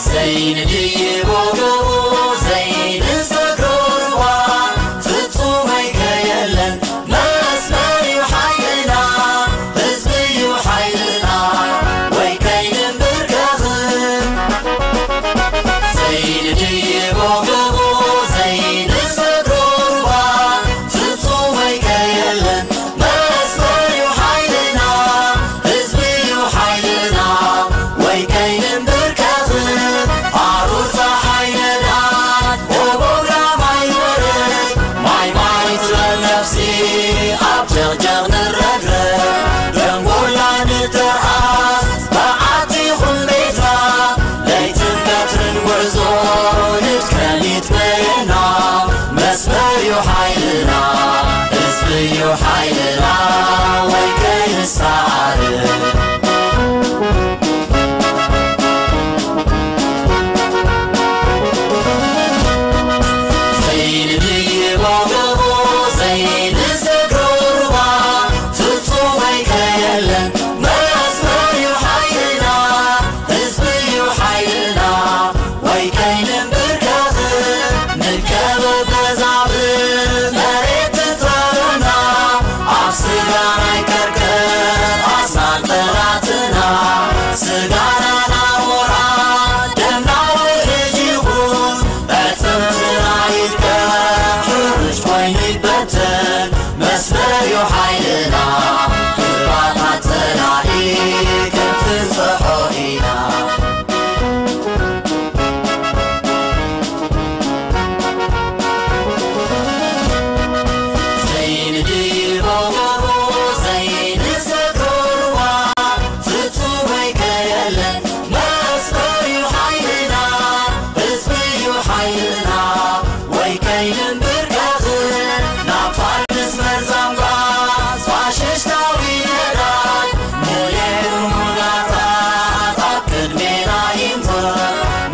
ዘይንድይቦ ገቦ ዘይንሰግሮ ሩባ ፍጹም ኣይከየለን መስመር እዩ ሓይልና ህዝቢ እዩ ሓይልና ወይ ከይንንብርከኽን ዘይንድይቦ ገቦ ዘይንሰግሮ ሩባ ፍጹም ኣይከየለን መስመር እዩ ሓይልና ህዝቢ እዩ ሓይልና ወይ ከይንንብርከኽን ኣሩር ጸሓይ ነዳድ ኦቦብራ ማይ በረድ ማይ ማይ ትበል ነፍሲ ኣብ ጀቕጀቕ ንረግረግ ደንጎላ ንተርኣስ በዓቲ ይኹን ቤትና ለይትን ቀትርን ጉዕዞ ንድከም ይትመየና መስመር እዩ ሓይልና ህዝቢ እዩ ሓይልና ወይ ከይንሰዓር ዘይንድይቦ ገቦ ዘይንሰግሮ ሩባ ፍጹም ኣይከየለን መስመር እዩ ሓይልና ህዝቢ እዩ ሓይልና ወይ ከይንንብርከኽን ንከበብ መዛብእ መሬት ትጻረና ኣብ ስጋና ይቀርቀር ኣስናን ጠላትና ስጋና ናሞራ ደምና ውሕጅ ይኹን ኣዕጽምትና ይልቀ ሕርጭ ኮይኑ ይበተን መስመር እዩ ሓይልና ክባታት ጸላኢ ክንፍንጽሖ ኢና ዘይንድይቦ ገቦ ዘይንሰግሮ ሩባ ፍጹም ኣይከየለን መስመር እዩ ሓይልና ህዝቢ እዩ ሓይልና ወይ ከይንንብርከኽን ናብ ፋርስ መርዛም ጓዝ ፋሽስታዊ ነዳድ ሙሌት ሙላታት ኣብ ቅድሜና ይንበር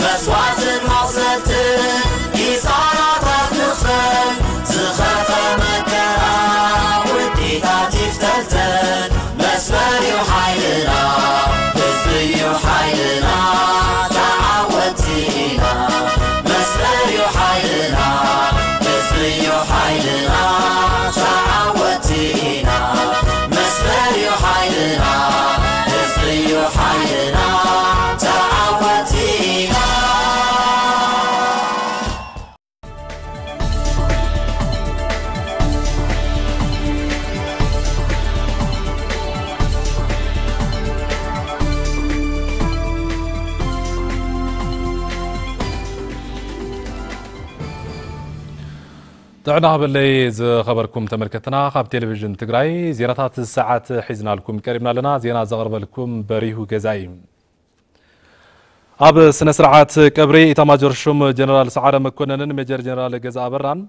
መስዋዕትን መቕሰልትን ኪሳራታት ንኽፈል ዝኸፈ መከራ ውዲታት ይፍተልተል መስመር እዩ ሓይልና ህዝቢ እዩ ሓይልና ተዓወቲ ኢና መስመር እዩ ሓይልና ህዝቢ እዩ ሓይልና ተዓወቲ ኢና መስመር እዩ ሓይልና ህዝቢ እዩ ሓይልና ተዓወቲ ኢና ጥዕና ሃበለይ ዝኸበርኩም ተመልከትና፣ ካብ ቴሌቪዥን ትግራይ ዜናታት ሰዓት ሒዝናልኩም ቀሪብና ኣለና። ዜና ዘቕርበልኩም በሪሁ ገዛኢ። ኣብ ስነ ስርዓት ቀብሪ ኢታማጆር ሹም ጀነራል ሰዓረ መኮነንን ሜጀር ጀነራል ገዛ ኣበራን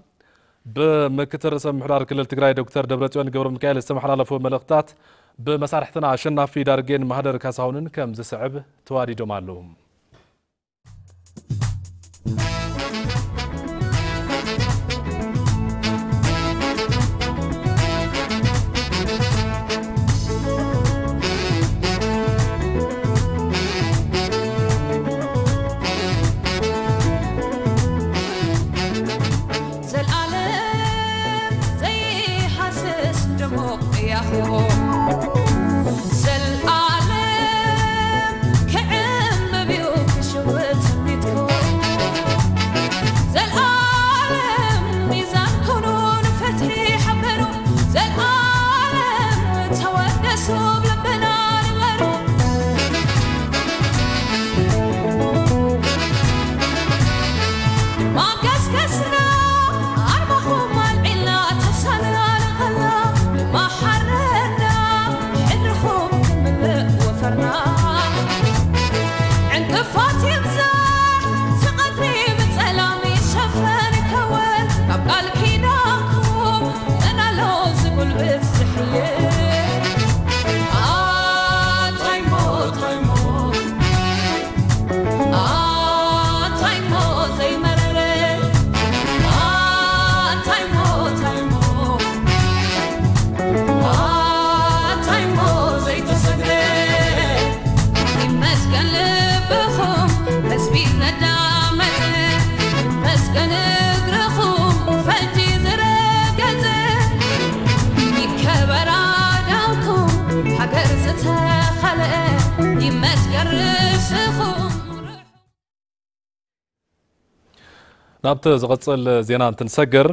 ብምክትል ርእሰ ምምሕዳር ክልል ትግራይ ዶክተር ደብረጽዮን ገብረ ሚካኤል ዝተመሓላለፉ መልእኽትታት ብመሳርሕትና ኣሸናፊ ዳርጌን ማህደር ካሳሁንን ከም ዝስዕብ ተዋዲዶም ኣለዉ። ዘልኣለም ዘይሃስስ ድሙቕ ያሆ ዘልኣለም ክዕምም እዩ ክሽውት ትምኒትኩ ዘልኣለም ሚዛን ኩኑ ንፍትሒ ሓበሩ ዘልኣለም ተወደሱ ብልብና ንበሩ ማንቀስቀስና ኣርማኹም ኣልዒልና ተሳንና ንቐላ ማሓረና ናብቲ ዝቐጽል ዜና እንትንሰግር፣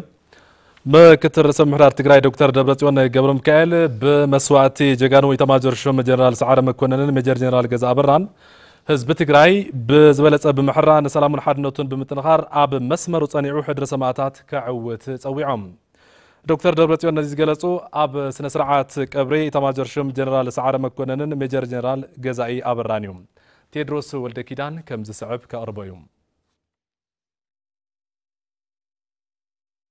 ምክትል ርእሰ ምምሕዳር ትግራይ ዶክተር ደብረጽዮን ገብረ ሚካኤል ብመስዋእቲ ጀጋኑ ኢታማጆር ሹም ጀነራል ሰዓረ መኮነንን ሜጀር ጀነራል ገዛ ኣበራን ህዝቢ ትግራይ ብዝበለጸ ብምሕራ ንሰላሙን ሓድነቱን ብምጥንኻር ኣብ መስመሩ ጸኒዑ ሕድሪ ሰማእታት ከዕውት ጸዊዖም። ዶክተር ደብረጽዮን ነዚ ዝገለጹ ኣብ ስነ ስርዓት ቀብሪ ኢታማጆር ሹም ጀነራል ሰዓረ መኮነንን ሜጀር ጀነራል ገዛኢ ኣበራን እዩ። ቴድሮስ ወልደ ኪዳን ከም ዝስዕብ ከቕርቦ እዩ።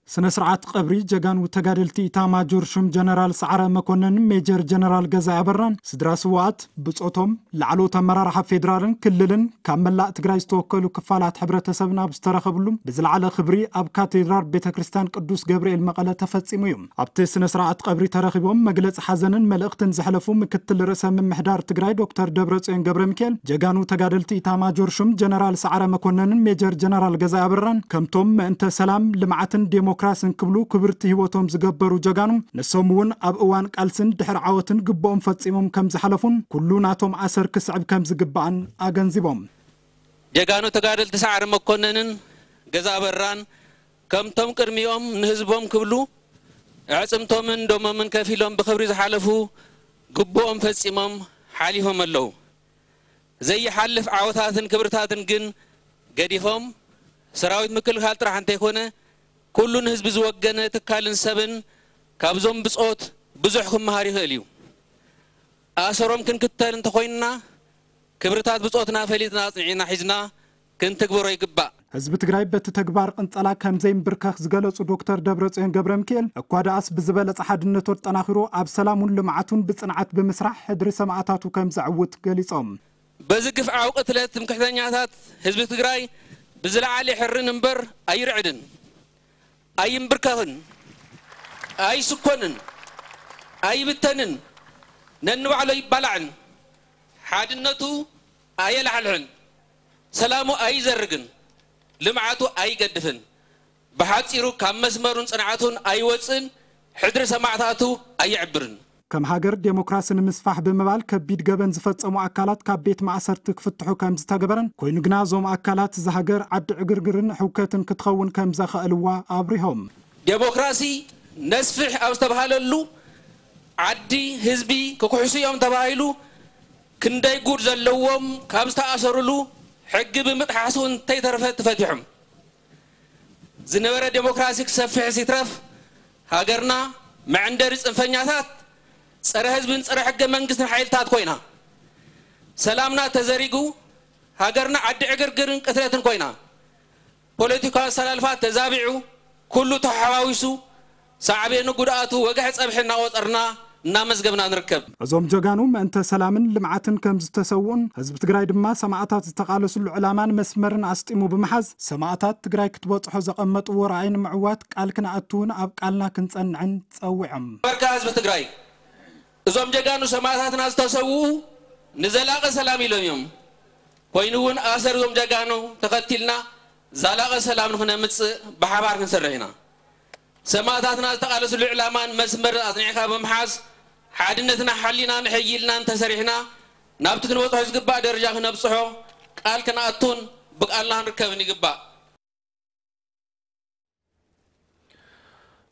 ስነ ስርዓት ቀብሪ ጀጋኑ ተጋደልቲ ኢታማጆር ሹም ጀነራል ሰዓረ መኮነን ሜጀር ጀነራል ገዛኢ ኣበራን ስድራ ስውኣት ብጾቶም ላዕለዎት ኣመራርሓ ፌዴራልን ክልልን ካብ መላእ ትግራይ ዝተወከሉ ክፋላት ሕብረተሰብን ኣብ ዝተረኸብሉ ብዝለዓለ ክብሪ ኣብ ካቴድራል ቤተ ክርስቲያን ቅዱስ ገብርኤል መቐለ ተፈጺሙ እዩ። ኣብቲ ስነ ስርዓት ቀብሪ ተረኺቦም መግለጺ ሓዘንን መልእኽትን ዘሕለፉ ምክትል ርእሰ ምምሕዳር ትግራይ ዶክተር ደብረጽዮን ገብረ ሚካኤል ጀጋኑ ተጋደልቲ ኢታማጆር ሹም ጀነራል ሰዓረ መኮነንን ሜጀር ጀነራል ገዛኢ ኣበራን ከምቶም ምእንተ ሰላም፣ ልምዓትን ዴሞክራስን ክብሉ ክብርቲ ህይወቶም ዝገበሩ ጀጋኑ ንሶም እውን ኣብ እዋን ቃልስን ድሕሪ ዓወትን ግብኦም ፈጺሞም ከም ዝሓለፉን ኩሉ ናቶም ኣሰር ክስዕብ ከም ዝግባእን ኣገንዚቦም። ጀጋኑ ተጋደልቲ ሰዓረ መኮነንን ገዛኢ ኣበራን ከምቶም ቅድሚኦም ንህዝቦም ክብሉ ኣዕጽምቶምን ደሞምን ከፊሎም ብኽብሪ ዝሓለፉ ግቡኦም ፈጺሞም ሓሊፎም ኣለዉ። ዘይሓልፍ ዓወታትን ክብርታትን ግን ገዲፎም ሰራዊት ምክልኻል ጥራሕ እንተይኮነ ኩሉ ንህዝቢ ዝወገነ ትካልን ሰብን ካብዞም ብጾት ብዙሕ ክመሃር ይኽእል እዩ። ኣሰሮም ክንክተል እንተኾይንና ክብርታት ብጾትና ፈሊጥና ኣጽኒዕና ሒዝና ክንትግብሮ ይግባእ። ህዝቢ ትግራይ በቲ ተግባር ቅንጸላ ከም ዘይምብርከኽ ዝገለጹ ዶክተር ደብረጽዮን ገብረ ሚካኤል እኳ ደኣስ ብዝበለጸ ሓድነቱ ኣጠናኺሩ ኣብ ሰላሙን ልምዓቱን ብጽንዓት ብምስራሕ ሕድሪ ሰማእታቱ ከም ዘዕውት ገሊጾም። በዚ ግፍዓዊ ቅትለት ትምክሕተኛታት ህዝቢ ትግራይ ብዝለዓለ ይሕርን እምበር ኣይርዕድን፣ ኣይምብርከኽን፣ ኣይስኮንን፣ ኣይብተንን፣ ነንባዕሉ ኣይባላዕን፣ ሓድነቱ ኣየላሕልሕን፣ ሰላሙ ኣይዘርግን፣ ልምዓቱ ኣይገድፍን፣ ብሓጺሩ ካብ መስመሩን ጽንዓቱን ኣይወጽእን፣ ሕድሪ ሰማዕታቱ ኣየዕብርን። ከም ሃገር ዴሞክራሲ ንምስፋሕ ብምባል ከቢድ ገበን ዝፈጸሙ ኣካላት ካብ ቤት ማእሰርቲ ክፍትሑ ከም ዝተገበረን ኮይኑ ግና እዞም ኣካላት እዛ ሃገር ዓዲ ዕግርግርን ሕውከትን ክትኸውን ከም ዘኸእልዋ ኣብሪሆም። ዴሞክራሲ ነስፍሕ ኣብ ዝተባሃለሉ ዓዲ ህዝቢ ክኩሕሱ እዮም ተባሂሉ ክንደይ ጉድ ዘለዎም ካብ ዝተኣሰሩሉ ሕጊ ብምጥሓሱ እንተይተረፈ ተፈቲሖም። ዝነበረ ዴሞክራሲ ክሰፍሕስ ይትረፍ ሃገርና መዕንደሪ ጽንፈኛታት ጸረ ህዝብን ጸረ ሕገ መንግስትን ሓይልታት ኮይና፣ ሰላምና ተዘሪጉ ሃገርና ዓዲ ዕግርግርን ቅትለትን ኮይና፣ ፖለቲካዊ ኣሰላልፋ ተዛቢዑ ኩሉ ተሓዋዊሱ ሳዕቤኑ ጉድኣቱ ወግሐ ጸብሒ እናቆጸርና እናመዝገብና ንርከብ። እዞም ጀጋኑ ምእንተ ሰላምን ልምዓትን ከም ዝተሰውኡን ህዝቢ ትግራይ ድማ ሰማእታት ዝተቓለስሉ ዕላማን መስመርን ኣስጢሙ ብምሓዝ ሰማእታት ትግራይ ክትበጽሖ ዘቐመጥዎ ራእይ ንምዕዋት ቃል ክንኣትውን ኣብ ቃልና ክንጸንዕን ጸዊዖም። በርካ ህዝቢ ትግራይ እዞም ጀጋኑ ሰማእታትና ዝተሰውኡ ንዘላቂ ሰላም ኢሎም እዮም። ኮይኑ እውን ኣሰር እዞም ጀጋኑ ተኸቲልና ዛላቂ ሰላም ንክነምጽእ ብሓባር ክንሰርሕ ኢና። ሰማእታትና ዝተቓለስሉ ዕላማን መስመርን ኣጽኒዕካ ብምሓዝ ሓድነትና ሓሊና ንሕይልና እንተሰሪሕና ናብቲ ክንበጽሖ ዝግባእ ደረጃ ክነብጽሖ ቃል ክንኣቱን ብቃልና ክንርከብን ይግባእ።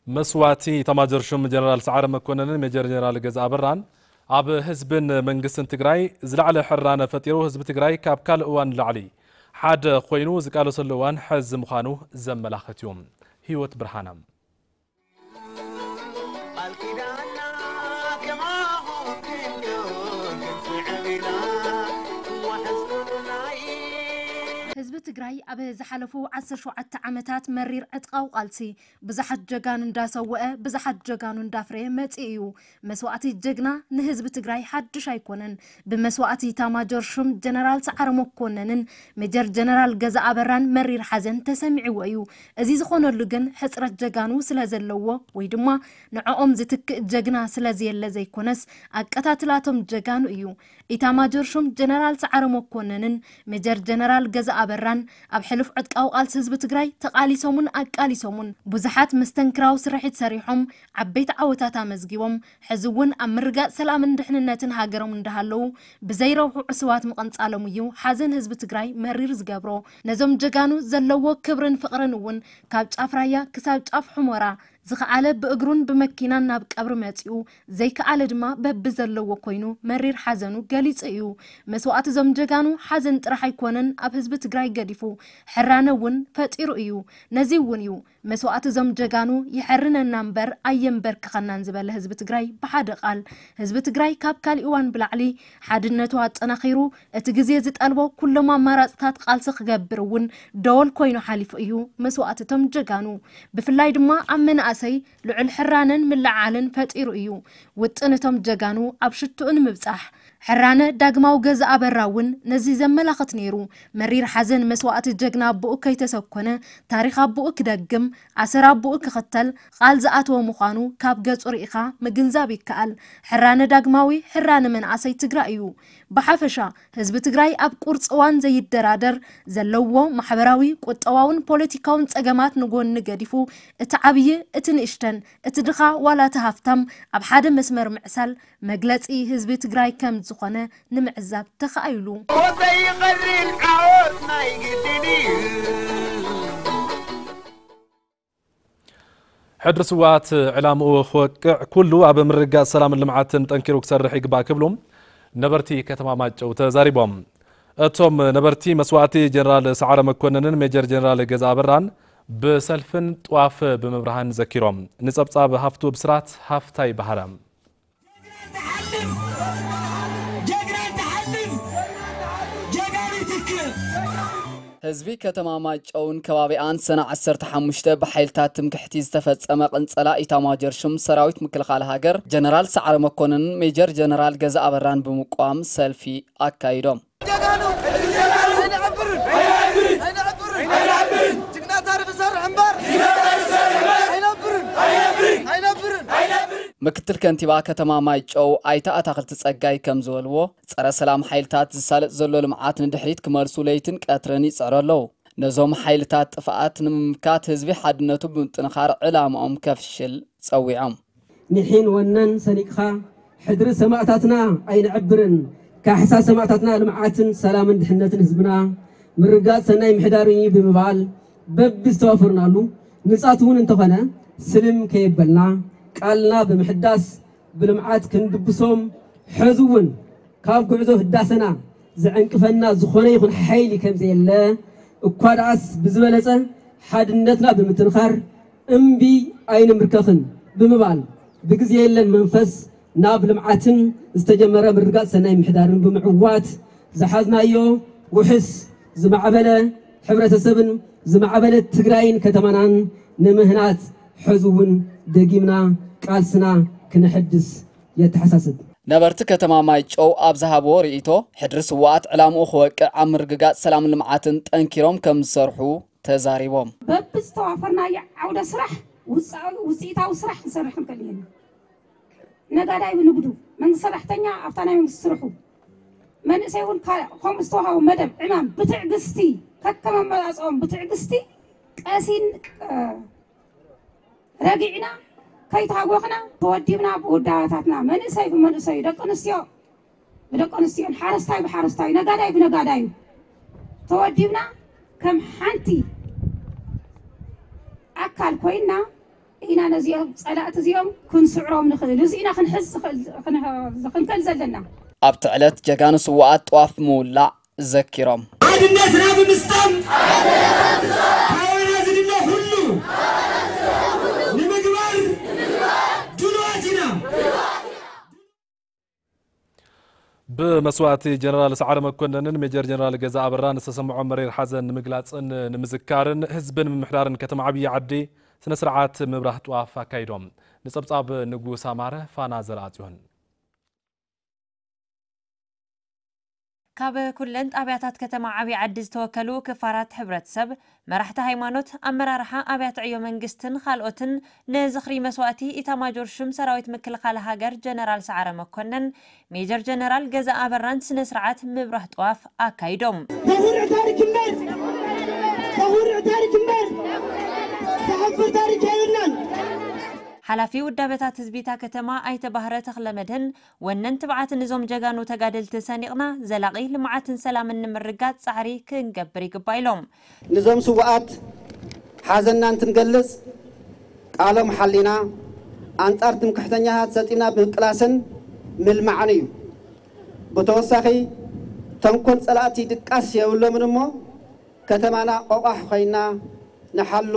መስዋእቲ ኢታማጆር ሹም ጀነራል ሰዓረ መኮነንን ሜጀር ጀነራል ገዛ ኣበራን ኣብ ህዝብን መንግስትን ትግራይ ዝለዓለ ሕራነ ፈጢሩ ህዝቢ ትግራይ ካብ ካልእ እዋን ንላዕሊ ሓደ ኮይኑ ዝቃለሰሉ እዋን ሕዚ ምዃኑ ዘመላኽት እዩ። ህይወት ብርሃነ። ህዝቢ ትግራይ ኣብ ዝሓለፉ ዓሰርተ ሸውዓተ ዓመታት መሪር ዕጥቃዊ ቃልሲ ብዙሓት ጀጋኑ እንዳሰወአ፣ ብዙሓት ጀጋኑ እንዳፍረየ መጺኡ እዩ። መስዋእቲ ጀግና ንህዝቢ ትግራይ ሓድሽ ኣይኮነን። ብመስዋእቲ ኢታማጆር ሹም ጀነራል ሰዓረ መኮነንን ሜጀር ጀነራል ገዛ ኣበራን መሪር ሓዘን ተሰሚዕዎ እዩ። እዚ ዝኾነሉ ግን ሕጽረት ጀጋኑ ስለ ዘለዎ ወይ ድማ ንዕኦም ዝትክእ ጀግና ስለ ዘየለ ዘይኮነስ፣ ኣቀታትላቶም ጀጋኑ እዩ። ኢታማጆር ሹም ጀነራል ሰዓረ መኮነንን ሜጀር ጀነራል ገዛ ኣበራን ኣብ ሕሉፍ ዕጥቃዊ ቃልሲ ህዝቢ ትግራይ ተቓሊሶምን ኣቃሊሶምን ብዙሓት መስተንክራዊ ስርሒት ሰሪሖም ዓበይቲ ዓወታት ኣመዝጊቦም፣ ሕዚ እውን ኣብ ምርጋጽ ሰላምን ድሕንነትን ሃገሮም እንዳሃለዉ ብዘይረብሑ ዕሱባት ምቕንጻሎም እዩ ሓዘን ህዝቢ ትግራይ መሪር ዝገብሮ። ነዞም ጀጋኑ ዘለዎ ክብርን ፍቕርን እውን ካብ ጫፍ ራያ ክሳብ ጫፍ ሑመራ ዝኸኣለ ብእግሩን ብመኪናን ናብ ቀብሪ መጺኡ፣ ዘይከኣለ ድማ በብዘለዎ ኮይኑ መሪር ሓዘኑ ገሊጹ እዩ። መስዋእቲ እዞም ጀጋኑ ሓዘን ጥራሕ ኣይኮነን ኣብ ህዝቢ ትግራይ ገዲፉ፣ ሕራነ እውን ፈጢሩ እዩ። ነዚ እውን እዩ መስዋእቲ እዞም ጀጋኑ ይሐርነና እምበር ኣየንበርክኸናን ዝበለ ህዝቢ ትግራይ ብሓደ ቃል። ህዝቢ ትግራይ ካብ ካሊእ እዋን ብላዕሊ ሓድነቱ ኣጠናኺሩ፣ እቲ ግዜ ዝጠልቦ ኩሎም ኣማራፅታት ቃልሲ ክገብር እውን ደወል ኮይኑ ሓሊፉ እዩ መስዋእቲ እቶም ጀጋኑ። ብፍላይ ድማ ኣብ መናእሰይ ልዑል ሕራነን ምልዕዓልን ፈጢሩ እዩ። ውጥን እቶም ጀጋኑ ኣብ ሽትኡ ንምብጻሕ። ሕራነ ዳግማዊ ገዛ ኣበራ እውን ነዚ ዘመላኽት ነይሩ። መሪር ሓዘን መስዋእቲ ጀግና ኣቦኡ ከይተሰኮነ፣ ታሪኽ ኣቦኡ ክደግም፣ ኣሰር ኣቦኡ ክኽተል ቃል ዝኣተወ ምዃኑ ካብ ገጹ ርኢኻ ምግንዛብ ይከኣል። ሕራነ ዳግማዊ፣ ሕራነ መንእሰይ ትግራይ እዩ። ብሓፈሻ ህዝቢ ትግራይ ኣብ ቁርፂ እዋን ዘይደራደር፣ ዘለዎ ማሕበራዊ፣ ቁጠባውን ፖለቲካውን ጸገማት ንጎኒ ገዲፉ፣ እቲ ዓብዪ፣ እቲ ንእሽተን፣ እቲ ድኻ ዋላ እቲ ሃፍታም ኣብ ሓደ መስመር ምዕሳል መግለጺ ህዝቢ ትግራይ ከም ዝኾነ ንምዕዛብ ተኻኢሉ። ሞተይ ይቐርብ ዓወት ናይ ግድን እዩ። ሕድሪ ስውኣት ዕላምኡ ክወቅዕ ኩሉ ኣብ ምርግጋጽ ሰላምን ልምዓትን ጠንኪሩ ክሰርሕ ይግባእ ክብሉ ነበርቲ ከተማ ማይጨው ተዛሪቦም። እቶም ነበርቲ መስዋእቲ ጀነራል ሰዓረ መኮንንን ሜጀር ጀነራል ገዛ ኣበራን ብሰልፍን ጥዋፍ ብምብርሃን ዘኪሮም። ንጸብጻብ ሃፍቱ ብስራት ሃፍታይ ባህረ። ጀግና ትሓልፍ፣ ጀግና ትሓልፍ፣ ጀጋኑ ትክእ። ህዝቢ ከተማ ማይጨውን ከባቢኣን ሰነ ዓሰርተ ሓሙሽተ ብሓይልታት ትምክሕቲ ዝተፈጸመ ቅንጸላ ኢታማጆር ሹም ሰራዊት ምክልኻል ሃገር ጀነራል ሰዓረ መኮንንን ሜጀር ጀነራል ገዛ ኣበራን ብምቋም ሰልፊ ኣካይዶም። ጀጋኑ ኣይንዕብርን፣ ኣይንዕብርን፣ ጅግና ታሪኽ ይሰርሕ እምበር ኣይነብርን፣ ኣይነብርን። ምክትል ከንቲባ ከተማ ማይጨው ኣይተ ኣታኽልቲ ጸጋይ ከም ዝበልዎ፣ ጸረ ሰላም ሓይልታት ዝሳለጥ ዘሎ ልምዓት ንድሕሪት ክመልሱ ለይትን ቀትርን ይጽዕሩ ኣለዉ። ነዞም ሓይልታት ጥፍኣት ንምምካት ህዝቢ ሓድነቱ ብምጥንኻር ዕላምኦም ከፍሽል ጸዊዖም። ኒሒን ወነን ሰኒቅኻ ሕድሪ ሰማእታትና ኣይንዕብርን፣ ካሕሳ ሰማእታትና ልምዓትን ሰላምን ድሕነትን ህዝብና ምርጋጽ ሰናይ ምሕዳርን እዩ ብምባል በብዝተዋፈርናሉ ንጻት እውን እንተኾነ ስልም ከየበልና ቃልና ብምሕዳስ ብልምዓት ክንድብሶም፣ ሕዚ እውን ካብ ጉዕዞ ህዳሰና ዝዕንቅፈና ዝኾነ ይኹን ሓይሊ ከም ዘየለ እኳ ደኣስ ብዝበለጸ ሓድነትና ብምትንኻር እምቢ ኣይንምርከኽን ብምባል ብግዜ የለን መንፈስ ናብ ልምዓትን ዝተጀመረ ምርግጋጽ ሰናይ ምሕዳርን ብምዕዋት ዝሓዝናዮ ውሕስ ዝማዕበለ ሕብረተሰብን ዝማዕበለት ትግራይን ከተማናን ንምህናጽ ሕዚ እውን ደጊምና ቃልስና ክነሐድስ የተሓሳስብ። ነበርቲ ከተማ ማይጨው ኣብ ዝሃብዎ ርእይቶ፣ ሕድሪ ስውኣት ዕላምኡ ክወቅዕ ኣብ ምርግጋጽ ሰላምን ልምዓትን ጠንኪሮም ከም ዝሰርሑ ተዛሪቦም። በብዝተዋፈርናዮ ዓውደ ስራሕ ውፅኣዊ-፣ ውፅኢታዊ ስራሕ ክንሰርሕ ክንክእል ኢና። ነጋዳይ ብንግዱ፣ መንግስቲ ሰራሕተኛ ኣብታ ናይ መንግስቲ ስርሑ፣ መንእሰይ እውን ካ-፣ ከምኡ ዝተዋሃቦ መደብ ዕማም ብትዕግስቲ፣ ከከም ኣመራፅኦም ብትዕግስቲ ቀሲን፣ እ፣ ረጊዕና ከይተሃወኽና ተወዲብና ብውዳበታትና መንእሰይ ብመንእሰዩ፣ ደቂ ኣንስትዮ ብደቂ ኣንስትዮን፣ ሓረስታይ ብሓረስታዩ፣ ነጋዳይ ብነጋዳዩ ተወዲብና ከም ሓንቲ ኣካል ኮይንና ኢና ነዚኦም ጸላእቲ እዚኦም ክንስዕሮም ንኽእል። እዚ ኢና ክንሕዝ ዝኽእል፣ ክን-፣ ክንክእል ዘለና። ኣብቲ ዕለት ጀጋኑ ስውኣት ጥዋፍ ብምውላዕ ዘኪሮም። ሓድነትና ብምስጣም ካባና ዝድለ ኩሉ ንምግባር ድሉዋት ኢና። ብመስዋእቲ ጀነራል ሰዓረ መኮነንን ሜጀር ጀነራል ገዛ ኣበራን ዝተሰምዖ መሪር ሓዘን ንምግላጽን ንምዝካርን ህዝብን ምምሕዳርን ከተማ ዓብዪ ዓዲ ስነ ስርዓት ምብራህ ጥዋፍ ኣካይዶም። ንጸብጻብ ንጉስ ኣማረ፣ ፋና ዘርኣጽዮን። ካብ ኩለን ጣብያታት ከተማ ዓብዪ ዓዲ ዝተወከሉ ክፋላት ሕብረተሰብ፣ መራሕቲ ሃይማኖት፣ ኣመራርሓ ኣብያተ ዕዮ መንግስትን ካልኦትን ንዝኽሪ መስዋእቲ ኢታማጆር ሹም ሰራዊት ምክልኻል ሃገር ጀነራል ሰዓረ መኮነን፣ ሜጀር ጀነራል ገዛ ኣበራን ስነ ስርዓት ምብራህ ጥዋፍ ኣካይዶም። ታሪክ እምበር ዝሓፍር ታሪክ የብልናን። ሓላፊ ውዳበታት ህዝቢ እታ ከተማ ኣይተ ባህረ ተኽለ መድህን፣ ወነን ትብዓትን እዞም ጀጋኑ ተጋደልቲ ሰኒቕና ዘላቒ ልምዓትን ሰላምን ንምርጋፅ ፃዕሪ ክንገብር ይግባእ ኢሎም። ንዞም ስውኣት ሓዘንና እንትንገልጽ፣ ቃሎም ሓሊና ኣንጻር ትምክሕተኛታት ሰጢና ብምቅላስን ምልማዕን እዩ። ብተወሳኺ፣ ተንኮል ጸላእቲ ድቃስ የብሎምን እሞ፣ ከተማና ቆቋሕ ኮይና ንሓሉ፣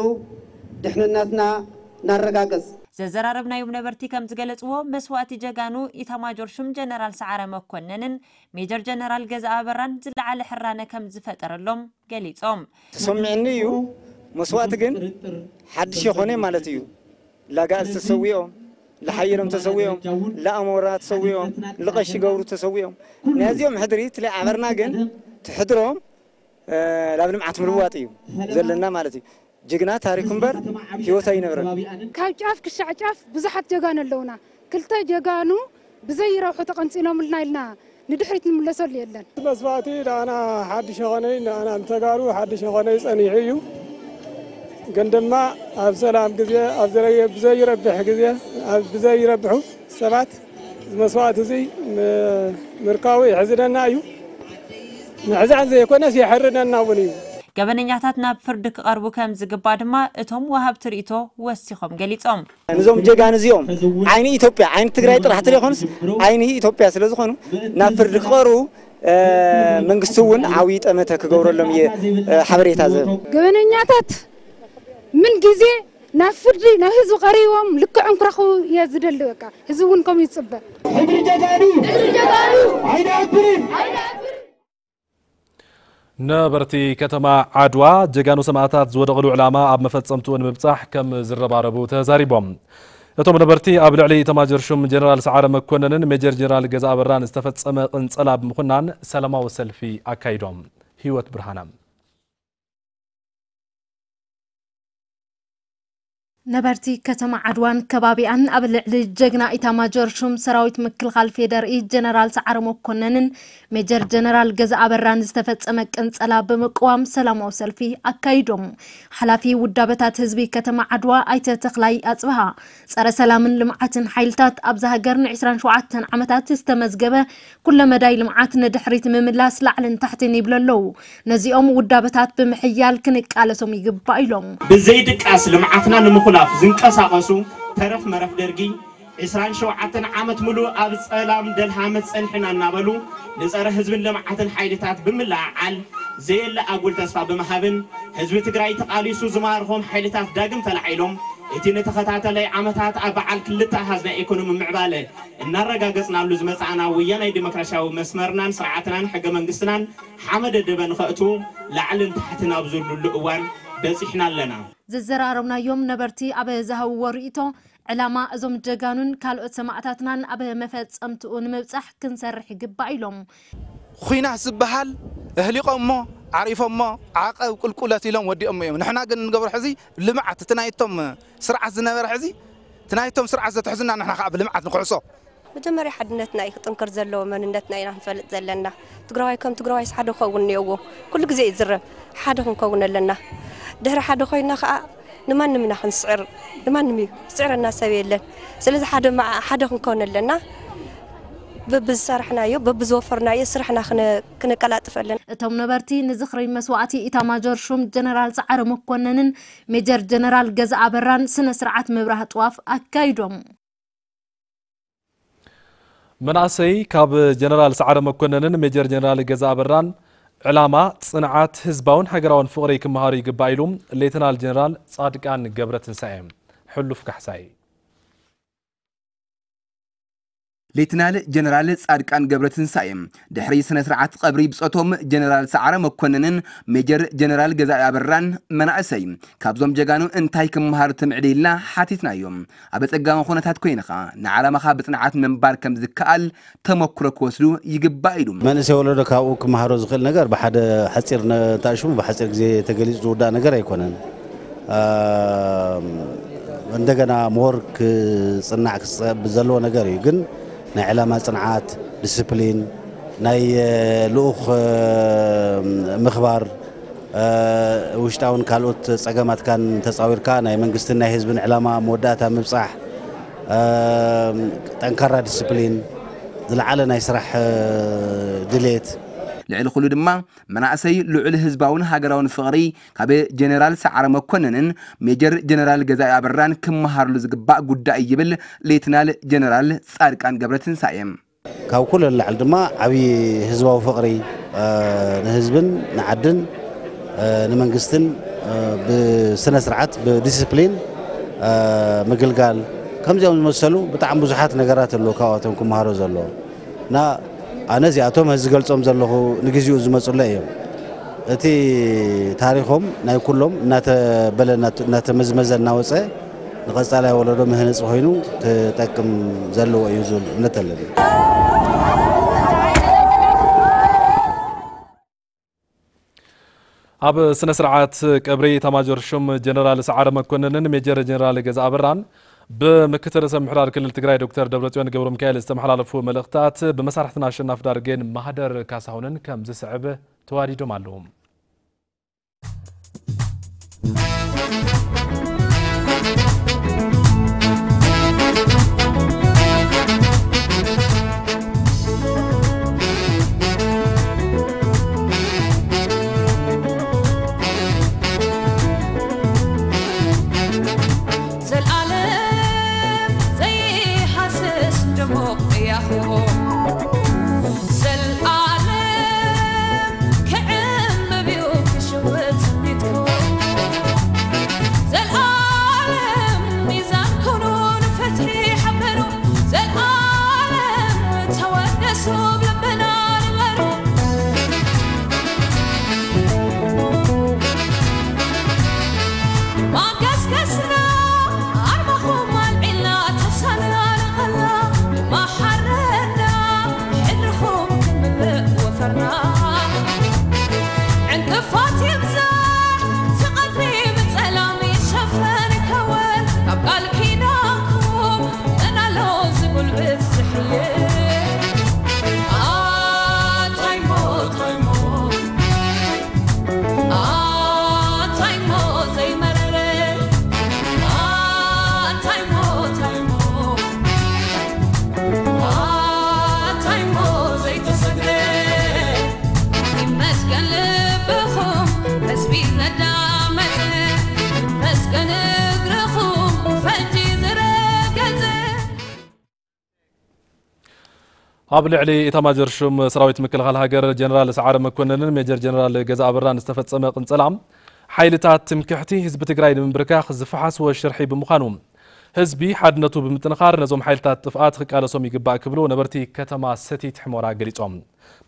ድሕንነትና ነረጋግጽ። ዘዘራረብናዮም ነበርቲ ከም ዝገለፅዎ፣ መስዋእቲ ጀጋኑ ኢታማጆር ሹም ጀነራል ሰዓረ መኮነንን ሜጀር ጀነራል ገዛ ኣበራን ዝለዓለ ሕራነ ከም ዝፈጠረሎም ገሊፆም። ተሰሚዕኒ እዩ። መስዋእቲ ግን ሓድሽ የኾነ ማለት እዩ። ላጋእዝ ተሰዊኦም፣ ለሓይሎም ተሰዊኦም፣ ለኣሞራ ተሰዊኦም፣ ልቐሺ ገብሩ ተሰዊኦም። ናዚኦም ሕድሪ ትለይ ዓበርና ግን ትሕድሮም ናብ ልምዓት ምልዋጥ እዩ ዘለና ማለት እዩ። ጅግና ታሪኩ እምበር ህይወት ኣይነብረን። ካብ ጫፍ ክሻዕ ጫፍ ብዙሓት ጀጋኑ ኣለውና። ክልተ ጀጋኑ ብዘይረብሑ ተቐንፂሎምልና ኢልና ንድሕሪት ንምለሰሉ የለን። መስዋእቲ ንኣና ሓድሽ የኾነይ፣ ንኣና ንተጋሩ ሓድሽ የኾነይ ጸኒሑ እዩ። ግን ድማ ኣብ ሰላም ግዜ፣ ኣብ ዘረየ-፣ ብዘይረብሕ ግዜ፣ ኣብ ብዘይረብሑ ሰባት መስዋእቲ እዙይ ም-፣ ምርካቡ የሕዝነና እዩ። ምሕዛን ዘይኮነስ የሕርነና እውን እዩ። ገበነኛታት ናብ ፍርዲ ክቐርቡ ከም ዝግባእ ድማ እቶም ወሃብቲ ርእይቶ ወሲኾም ገሊጾም። ነዞም ጀጋኑ እዚኦም ዓይኒ ኢትዮጵያ፣ ዓይኒ ትግራይ ጥራሕ ዘይኮኑስ ዓይኒ ኢትዮጵያ ስለ ዝኾኑ ናብ ፍርዲ ክቐርቡ መንግስቲ እውን ዓብዪ ጠመተ ክገብረሎም እየ ሓበሬታ ዝህብ። ገበነኛታት ምን ግዜ ናብ ፍርዲ ናብ ህዝቢ ቀሪቦም ልክዖም ክረኽቡ እየ ዝደሊ። በቃ ህዝቢ እውን ከምኡ ይፅበ። ሕድሪ ጀጋኑ ኣይነብርን። ነበርቲ ከተማ ዓድዋ ጀጋኑ ሰማእታት ዝወደቕሉ ዕላማ ኣብ መፈጸምትኡ ንምብጻሕ ከም ዝረባረቡ ተዛሪቦም። እቶም ነበርቲ ኣብ ልዕሊ ኢታማጆር ሹም ጀነራል ሰዓረ መኮነንን ሜጀር ጀነራል ገዛ ኣበራን ዝተፈጸመ ቅንጸላ ብምኹናን ሰላማዊ ሰልፊ ኣካይዶም። ህይወት ብርሃነ። ነበርቲ ከተማ ዓድዋን ከባቢኣን ኣብ ልዕሊ ጀግና ኢታማጆር ሹም ሰራዊት ምክልኻል ፌደርኢ ጀነራል ሰዓረ መኮነንን ሜጀር ጀነራል ገዛ ኣበራን ዝተፈጸመ ቅንጸላ ብምቅዋም ሰላማዊ ሰልፊ ኣካይዶም። ሓላፊ ውዳበታት ህዝቢ ከተማ ዓድዋ ኣይተ ተኽላይ ኣጽብሃ፣ ጸረ ሰላምን ልምዓትን ሓይልታት ኣብዛ ሃገር ን ዕስራን ሸውዓተን ዓመታት ዝተመዝገበ ኩለመዳይ ልምዓት ንድሕሪት ምምላስ ላዕልን ታሕትን ይብሉ ኣለዉ። ነዚኦም ውዳበታት ብምሕያል ክንቃለሶም ይግባእ ኢሎም። ብዘይድቃስ ልምዓትና ንምኹላፍ ዝንቀሳቐሱ ተረፍ መረፍ ደርጊ ዕስራን ሸውዓተን ዓመት ሙሉእ ኣብ ጸላም ደልሃመት ጸኒሕና እናበሉ ንጸረ ህዝብን ልምዓትን ሓይልታት ብምልዕዓል ዘየለ ኣጉል ተስፋ ብምሃብን ህዝቢ ትግራይ ተቓሊሱ ዝማርኾም ሓይልታት ዳግም ተላዒሎም እቲ ንተኸታተላይ ዓመታት ኣብ በዓል ክልተ ኣሃዝ ናይ ኢኮኖሚ ምዕባለ እናረጋገጽናሉ ዝመጻእና ወያናይ ዲሞክራሲያዊ መስመርናን ስርዓትናን ሕገ መንግስትናን ሓመደ ደበ ንኸእቱ ላዕልን ታሕትን ኣብ ዝብሉሉ እዋን በጺሕና ኣለና። ዘዘራረብናዮም ነበርቲ ኣብ ዝሃብዎ ርእይቶ፣ ዕላማ እዞም ጀጋኑን ካልኦት ሰማእታትናን ኣብ መፈጸምትኡ ንምብጻሕ ክንሰርሕ ይግባእ ኢሎም። ኹናት ዝበሃል ኣህሊቖሞ ዓሪፎሞ ዓቐብ ቁልቁለት ኢሎም ወዲኦሞ እዮም። ንሕና ግን እንገብሮ ሕዚ ልምዓት እቲ ናይቶም ስርዓት ዝነበረ ሕዚ እቲ ናይቶም ስርዓት ዘትሕዝና ንሕና ከዓ ብልምዓት ንክሕሶ። መጀመርያ ሓድነትና እዩ ክጥንክር ዘለዎ፣ መንነትና ኢና ክንፈልጥ ዘለና። ትግራዋይ ከም ትግራዋይስ ሓደ ክኸውን እኒኦዎ። ኩሉ ግዜ ይዝረብ፣ ሓደ ክንከውን ኣለና። ድሕሪ ሓደ ኮይና ከዓ ንማንም ኢና ክንስዕር፣ ንማንም እዩ ዝስዕረና ሰብ የለን። ስለዚ ሓደ መዓ ሓደ ክንከውን ኣለና። በብዝሰራሕናዮ በብዝወፈርናዮ ስራሕና ክነ- ክነቀላጥፍ ኣለና። እቶም ነበርቲ ንዝኽሪ መስዋእቲ ኢታማጆር ሹም ጀነራል ሰዓረ መኮነንን ሜጀር ጀነራል ገዛ ኣበራን ስነ ስርዓት ምብራህ ጥዋፍ ኣካይዶም። መናእሰይ ካብ ጀነራል ሰዓረ መኮነንን ሜጀር ጀነራል ገዛ ኣበራን ዕላማ፣ ጽንዓት፣ ህዝባውን ሃገራውን ፍቕሪ ክመሃሩ ይግባእ ኢሉ ሌተናል ጀነራል ጻድቃን ገብረትንሳኤ። ሕሉፍ ካሕሳይ። ሌተናል ጀነራል ጻድቃን ገብረትንሳኤ ድሕሪ ስነ ስርዓት ቀብሪ ብጾቶም ጀነራል ሰዓረ መኮነንን ሜጀር ጀነራል ገዛኢ ኣበራን መናእሰይ ካብዞም ጀጋኑ እንታይ ክመሃር ትምዕድ ኢልና ሓቲትናዮም። ኣብ ኣጸጋሚ ኩነታት ኮይንኻ ንዓላማኻ ብጽንዓት ምንባር ከም ዝከኣል ተመክሮ ክወስዱ ይግባእ ኢሉ። መንእሰይ ወለዶ ካብኡ ክመሃሮ ዝኽእል ነገር ብሓደ ሓጺር ነ- እንተኣሽሙ ብሓጺር ግዜ ተገሊጹ ዝውዳእ ነገር ኣይኮነን። ኣም፣ እንደገና ምሁር ክጽናዕ ክጸ- ዘለዎ ነገር እዩ። ግን ናይ ዕላማ ጽንዓት፣ ዲስፕሊን፣ ናይ እ፣ ልኡኽ እ፣ ምኽባር፣ ውሽጣውን ካልኦት ጸገማትካን ተጻዊርካ ናይ መንግስትን ናይ ህዝብን ዕላማ መወዳእታ ምብጻሕ፣ ጠንካራ ዲስፕሊን፣ ዝለዓለ ናይ ስራሕ ድሌት። ልዕሊ ኩሉ ድማ መናእሰይ ልዑል ህዝባውን ሃገራውን ፍቕሪ ካብ ጀነራል ሰዓረ መኮነንን ሜጀር ጀነራል ገዛኢ ኣበራን ክመሃርሉ ዝግባእ ጉዳይ ይብል ሌትናል ጀነራል ጻድቃን ገብረትንሳኤ። ካብ ኩሉ ንላዕሊ ድማ ዓብዪ ህዝባዊ ፍቕሪ ንህዝብን ንዓድን ንመንግስትን ብስነ ስርዓት ብዲስፕሊን ምግልጋል ከምዚኦም ዝመሰሉ ብጣዕሚ ብዙሓት ነገራት ኣለዉ ካብኣቶም ክመሃሮ ዘለዎ እና ኣነ እዚኣቶም እዚ ዝገልጾም ዘለኹ ንግዚኡ ዝመጹለ እዮም። እቲ ታሪኾም ናይ ኩሎም እናተበለ እናተመዝመዘ እናወፀ ንቐፃላይ ወለዶ መህነፂ ኮይኑ ክጠቅም ዘለዎ እዩ ዝብል እምነት ኣለኒ። ኣብ ስነ ስርዓት ቀብሪ ኤታማጆር ሹም ጀነራል ሰዓረ መኮንንን ሜጀር ጀነራል ገዛ ኣበራን ብምክትል ርእሰ ምሕዳር ክልል ትግራይ ዶክተር ደብረፅዮን ገብረ ሚካኤል ዝተመሓላለፉ መልእኽትታት ብመሳርሕትና ኣሸናፊ ዳርጌን ማህደር ካሳሁንን ከም ዝስዕብ ተዋዲዶም ኣለዉ። ኣብ ልዕሊ ኤታማጆር ሹም ሰራዊት ምክልኻል ሃገር ጀነራል ሰዓረ መኮንንን ሜጀር ጀነራል ገዛ ኣበራን ዝተፈጸመ ቅንጸላ ሓይልታት ትምክሕቲ ህዝቢ ትግራይ ንምንብርካኽ ዝፈሓስዎ ሽርሒ ብምዃኑ ህዝቢ ሓድነቱ ብምጥንኻር ነዞም ሓይልታት ጥፍኣት ክቃለሶም ይግባእ ክብሉ ነበርቲ ከተማ ሰቲት ሕሞራ ገሊጾም።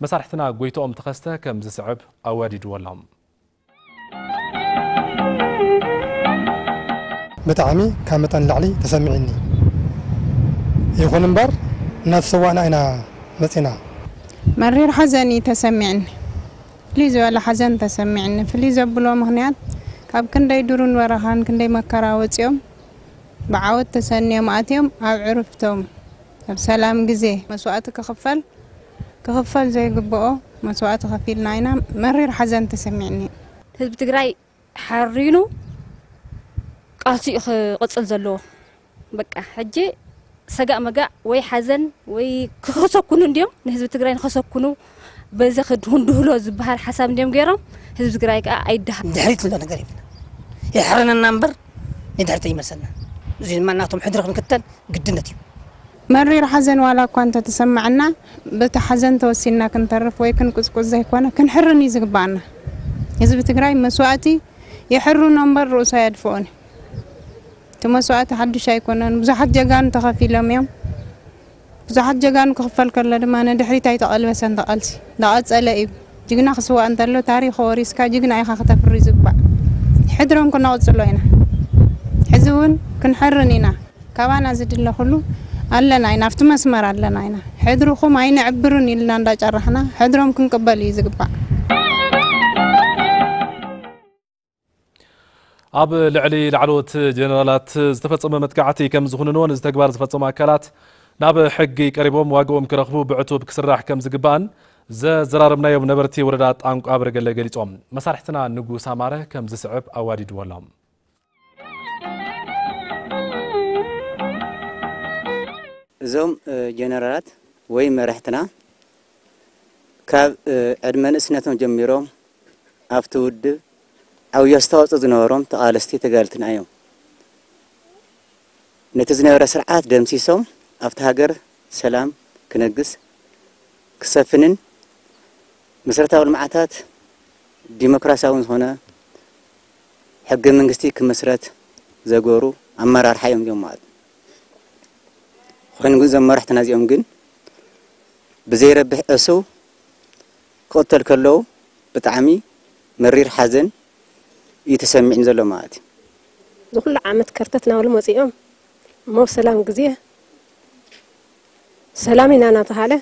መሳርሕትና ጎይቶኦም ተኸስተ ከም ዝስዕብ ኣዋዲድዎ ኣሎ። ብጣዕሚ ካብ መጠን ንላዕሊ ተሰሚዕኒ። ይኹን እምበር እናተሰዋእና ኢና መፂና። መሪር ሓዘን እዩ ተሰሚዕኒ። ፍልይ ዝበለ ሓዘን ተሰሚዕኒ። ፍልይ ዘብሎ ምኽንያት ካብ ክንደይ ዱርን በረኻን ክንደይ መከራ ወፂኦም ብዓወት ተሰንዮም ኣትዮም ኣብ ዕርፍቶም ኣብ ሰላም ግዜ መስዋእቲ ክኽፈል ክኽፈል ዘይግብኦ መስዋእቲ ከፊልና ኢና። መሪር ሓዘን ተሰሚዕኒ። ህዝቢ ትግራይ ሓሪኑ ቃልሲኡ ክቕፅል ዘለዎ። በቃ ሕጂ ሰጋእ መጋእ ወይ ሓዘን ወይ ክኸሰኩኑ እንዲዮም ንህዝቢ ትግራይ ንኸሰኩኑ በዚ ክድሁን ድህሎ ዝበሃል ሓሳብ እንዲዮም ገይሮም ህዝቢ ትግራይ ከዓ ኣይደሃ ድሕሪት ንብሎ ነገር የብልና። የሕረነና እምበር ንድሕሪት ኣይመልሰና። እዚ ድማ ናቶም ሕድሪ ክንክተል ግድነት እዩ። መሪር ሓዘን ዋላ እኳ እንተተሰማዐና በቲ ሓዘን ተወሲንና ክንተርፍ ወይ ክንቁፅቁፅ ዘይኮነ ክንሕርን እዩ ዝግባኣና። ህዝቢ ትግራይ መስዋእቲ የሕርኖ እምበር ርእሱ ኣየድፍኦን እዩ። እቲ መስዋእቲ ሓዱሽ ኣይኮነን። ብዙሓት ጀጋኑ ተኸፊሎም እዮም። ብዙሓት ጀጋኑ ክኽፈል ከሎ ድማ ንድሕሪት ኣይተቐልበሰን። ተቓልሲ እንዳቐፀለ እዩ። ጅግና ክስዋእ እንተሎ ታሪኽ ወሪስካ ጅግና ኢኻ ክተፍሪ ዝግባእ። ሕድሮም ክነቕፅሎ ኢና። ሕዚ እውን ክንሕርን ኢና። ካባና ዝድለ ኩሉ ኣለና ኢና፣ ኣብቲ መስመር ኣለና ኢና። ሕድርኹም ኣይነዕብርን ኢልና እንዳጨራሕና ሕድሮም ክንቅበል እዩ ዝግባእ። ኣብ ልዕሊ ላዕለዎት ጀነራላት ዝተፈጸመ መጥቃዕቲ ከም ዝኹንንዎን እዚ ተግባር ዝፈጸሙ ኣካላት ናብ ሕጊ ቀሪቦም ዋግኦም ክረኽቡ ብዕቱብ ክስራሕ ከም ዝግባእን ዘዘራረብናዮም ነበርቲ ወረዳ ጣንቋ በርገለ ገሊጾም። መሳርሕትና ንጉስ ኣማረ ከም ዝስዕብ ኣዋዲድዎ ኣሎ። እዞም ጀነራላት ወይ መራሕትና ካብ ዕድመ ንእስነቶም ጀሚሮም ኣብቲ ውድብ ዓብዪ ኣስተዋፅኦ ዝነበሮም ተቓለስቲ ተጋደልትና እዮም። ነቲ ዝነበረ ስርዓት ደምሲሶም ኣብቲ ሃገር ሰላም ክነግስ ክሰፍንን መሰረታዊ ልምዓታት ዲሞክራሲያውን ዝኾነ ሕገ መንግስቲ ክመስረት ዘገሩ ኣመራርሓ እዮም እዚኦም ማለት እዩ። ኮይኑ ግን እዞም መራሕትና እዚኦም ግን ብዘይረብሕ እሱው ክቕተል ከለዉ ብጣዕሚ መሪር ሓዘን እዩ ተሰሚዕኒ ዘሎ ማለት እዩ። እዚ ኩሉ ዓመት ከርተት ናብሉ መፂኦም እሞ ሰላም ግዜ ሰላም ኢና እናተሃለ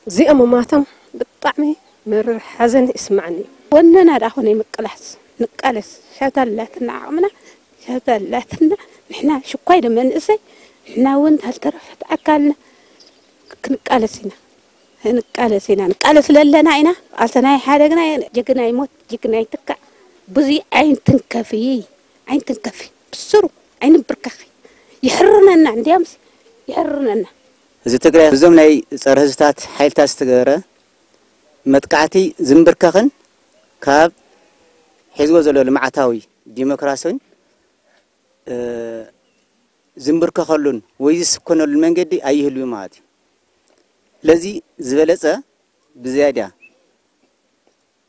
እዚኦም ምማቶም ብጣዕሚ መሪር ሓዘን ይስማዓኒ እዩ። ወነና ደኣ ኮነ ምቅላስ ንቃለስ ሸብታ ኣላትና ዓቕምና ሸብታ ኣላትና ንሕና ሽኳይ ዶ መንእሰይ ንሕና እውን ታልተረፈት ኣካልና ክንቃለስ ኢና። ንቃለስ ኢና ንቃለስ ለለና ኢና ቃልሰና ይሓደግና ጀግና ይሞት ጅግና ይትካእ ብዙ ኣይንትንከፊ ኣይንትንከፊ ብስሩ ኣይንብርከኺ ይሕርነና እንዲያምስ ይሕርነና። እዚ ትግራይ እዞም ናይ ፀረ ህዝብታት ሓይልታት ዝተገበረ መጥቃዕቲ ዝንብርከኽን ካብ ሒዝዎ ዘሎ ልምዓታዊ ዲሞክራሲን ዝንብርከኸሉን ወይ ዝስኮነሉን መንገዲ ኣይህልዊ ማለት እዩ። ስለዚ ዝበለፀ ብዝያዳ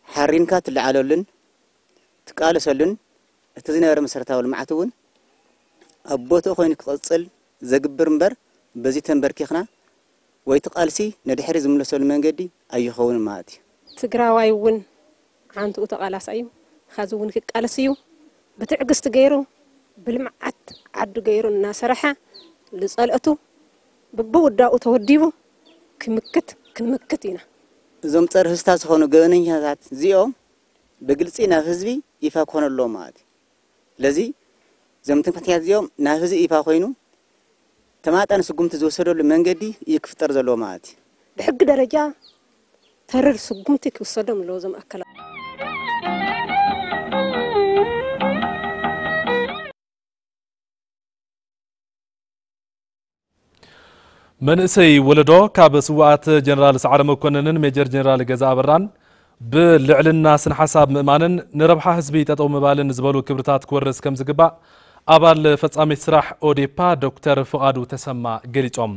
ሓሪንካ ትለዓለሉን ትቃለሰሉን እቲ ዝነበረ መሰረታዊ ልምዓት እውን ኣብ ቦትኡ ኮይኑ ክቕፅል ዘግብር እምበር በዚ ተንበርኪኽና ወይ እቲ ቃልሲ ንድሕሪ ዝምለሰሉ መንገዲ ኣይኸውንን ማለት እዩ። ትግራዋይ እውን ዓንትኡ ተቓላሳይ እዩ። ኻዚ እውን ክቃለስ እዩ። ብትዕግስቲ ገይሩ ብልምዓት ዓዱ ገይሩ እናሰረሐ ልፀልእቱ ብብውዳኡ ተወዲቡ ክምክት ክንምክት ኢና። እዞም ፀረ ህዝብታት ዝኾኑ ገበነኛታት እዚኦም ብግልፂ ናብ ህዝቢ ይፋ ክኾኑ ኣለዎም ማለት እዩ። ስለዚ እዞም ትምክሕተኛታት እዚኦም ናብ ህዝቢ ይፋ ኮይኑ ተማጣኒ ስጉምቲ ዝወሰደሉ መንገዲ እዩ ክፍጠር ዘለዎ ማለት እዩ። ብሕጊ ደረጃ ተሪር ስጉምቲ ክውሰዶም ኣለዎ እዞም ኣካላት። መንእሰይ ወለዶ ካብ ስውኣት ጀነራል ሰዓረ መኮነንን ሜጀር ጀነራል ገዛ ኣበራን ብልዕልና ስነ ሓሳብ ምእማንን ንረብሓ ህዝቢ ጠጠው ምባልን ዝበሉ ክብርታት ክወርስ ከም ዝግባእ ኣባል ፈጻሚት ስራሕ ኦዴፓ ዶክተር ፍቓዱ ተሰማ ገሊጾም።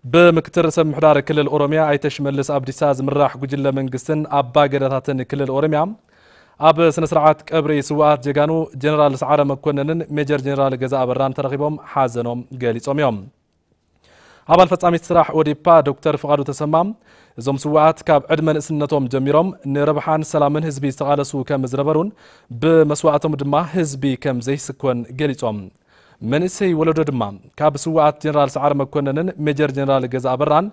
ብምክትል ርእሰ ምምሕዳር ክልል ኦሮሚያ ኣይተ ሽመልስ ኣብዲሳ ዝምራሕ ጉጅለ መንግስትን ኣባ ገዳታትን ክልል ኦሮሚያ ኣብ ስነ ስርዓት ቀብሪ ስውኣት ጀጋኑ ጀነራል ሰዓረ መኮነንን ሜጀር ጀነራል ገዛ ኣበራን ተረኺቦም ሓዘኖም ገሊጾም እዮም። ኣባል ፈጻሚት ስራሕ ኦዴፓ ዶክተር ፍቓዱ ተሰማ እዞም ስውኣት ካብ ዕድመ ንእስነቶም ጀሚሮም ንረብሓን ሰላምን ህዝቢ ዝተቓለሱ ከም ዝነበሩን ብመስዋእቶም ድማ ህዝቢ ከም ዘይስኮን ገሊጾም። መንእሰይ ወለዶ ድማ ካብ ስውኣት ጀነራል ሰዓረ መኮነንን ሜጀር ጀነራል ገዛ ኣበራን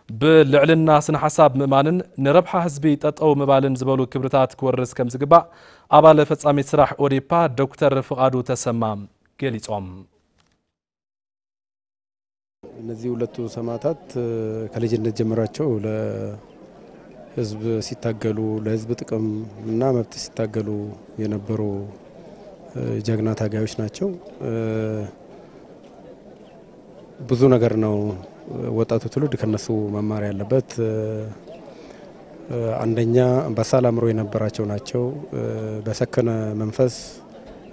ብልዕልና ስነ ሓሳብ ምእማንን ንረብሓ ህዝቢ ጠጠው ምባልን ዝበሉ ክብርታት ክወርስ ከም ዝግባእ ኣባል ፈጻሚት ስራሕ ኦዴፓ ዶክተር ፍቓዱ ተሰማ ገሊጾም። እነዚህ ሁለቱ ሰማዕታት ከልጅነት ጀምራቸው ለህዝብ ሲታገሉ ለህዝብ ጥቅም እና መብት ሲታገሉ የነበሩ ጀግና ታጋዮች ናቸው። ብዙ ነገር ነው ወጣቱ ትውልድ ከነሱ መማር ያለበት። አንደኛ በሳል አእምሮ የነበራቸው ናቸው። በሰከነ መንፈስ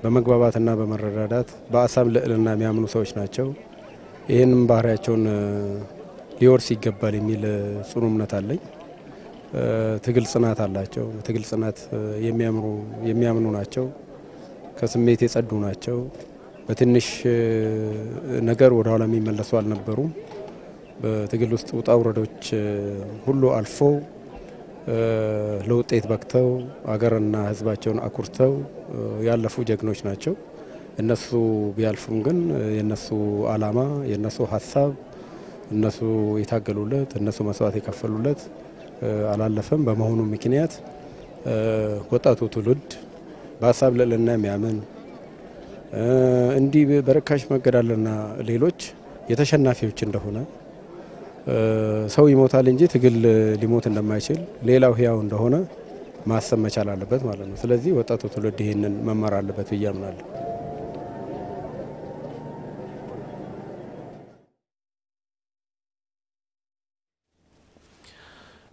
በመግባባትና በመረዳዳት በአሳብ ልዕልና የሚያምኑ ሰዎች ናቸው። ይህንም ባህሪያቸውን ሊወርስ ይገባል የሚል ጽኑ እምነት አለኝ። ትግል ጽናት አላቸው። ትግል ጽናት የሚያምሩ የሚያምኑ ናቸው። ከስሜት የጸዱ ናቸው። በትንሽ ነገር ወደ ኋላ የሚመለሱ አልነበሩም። በትግል ውስጥ ውጣ ውረዶች ሁሉ አልፈው ለውጤት በቅተው አገርና ህዝባቸውን አኩርተው ያለፉ ጀግኖች ናቸው። እነሱ ቢያልፉም ግን የነሱ አላማ የነሱ ሀሳብ እነሱ የታገሉለት እነሱ መስዋዕት የከፈሉለት አላለፈም። በመሆኑ ምክንያት ወጣቱ ትውልድ በሀሳብ ልዕልና የሚያምን እንዲህ በርካሽ መገዳልና ሌሎች የተሸናፊዎች እንደሆነ ሰው ይሞታል እንጂ ትግል ሊሞት እንደማይችል፣ ሌላው ህያው እንደሆነ ማሰብ መቻል አለበት ማለት ነው። ስለዚህ ወጣቱ ትውልድ ይህንን መማር አለበት ብዬ አምናለሁ።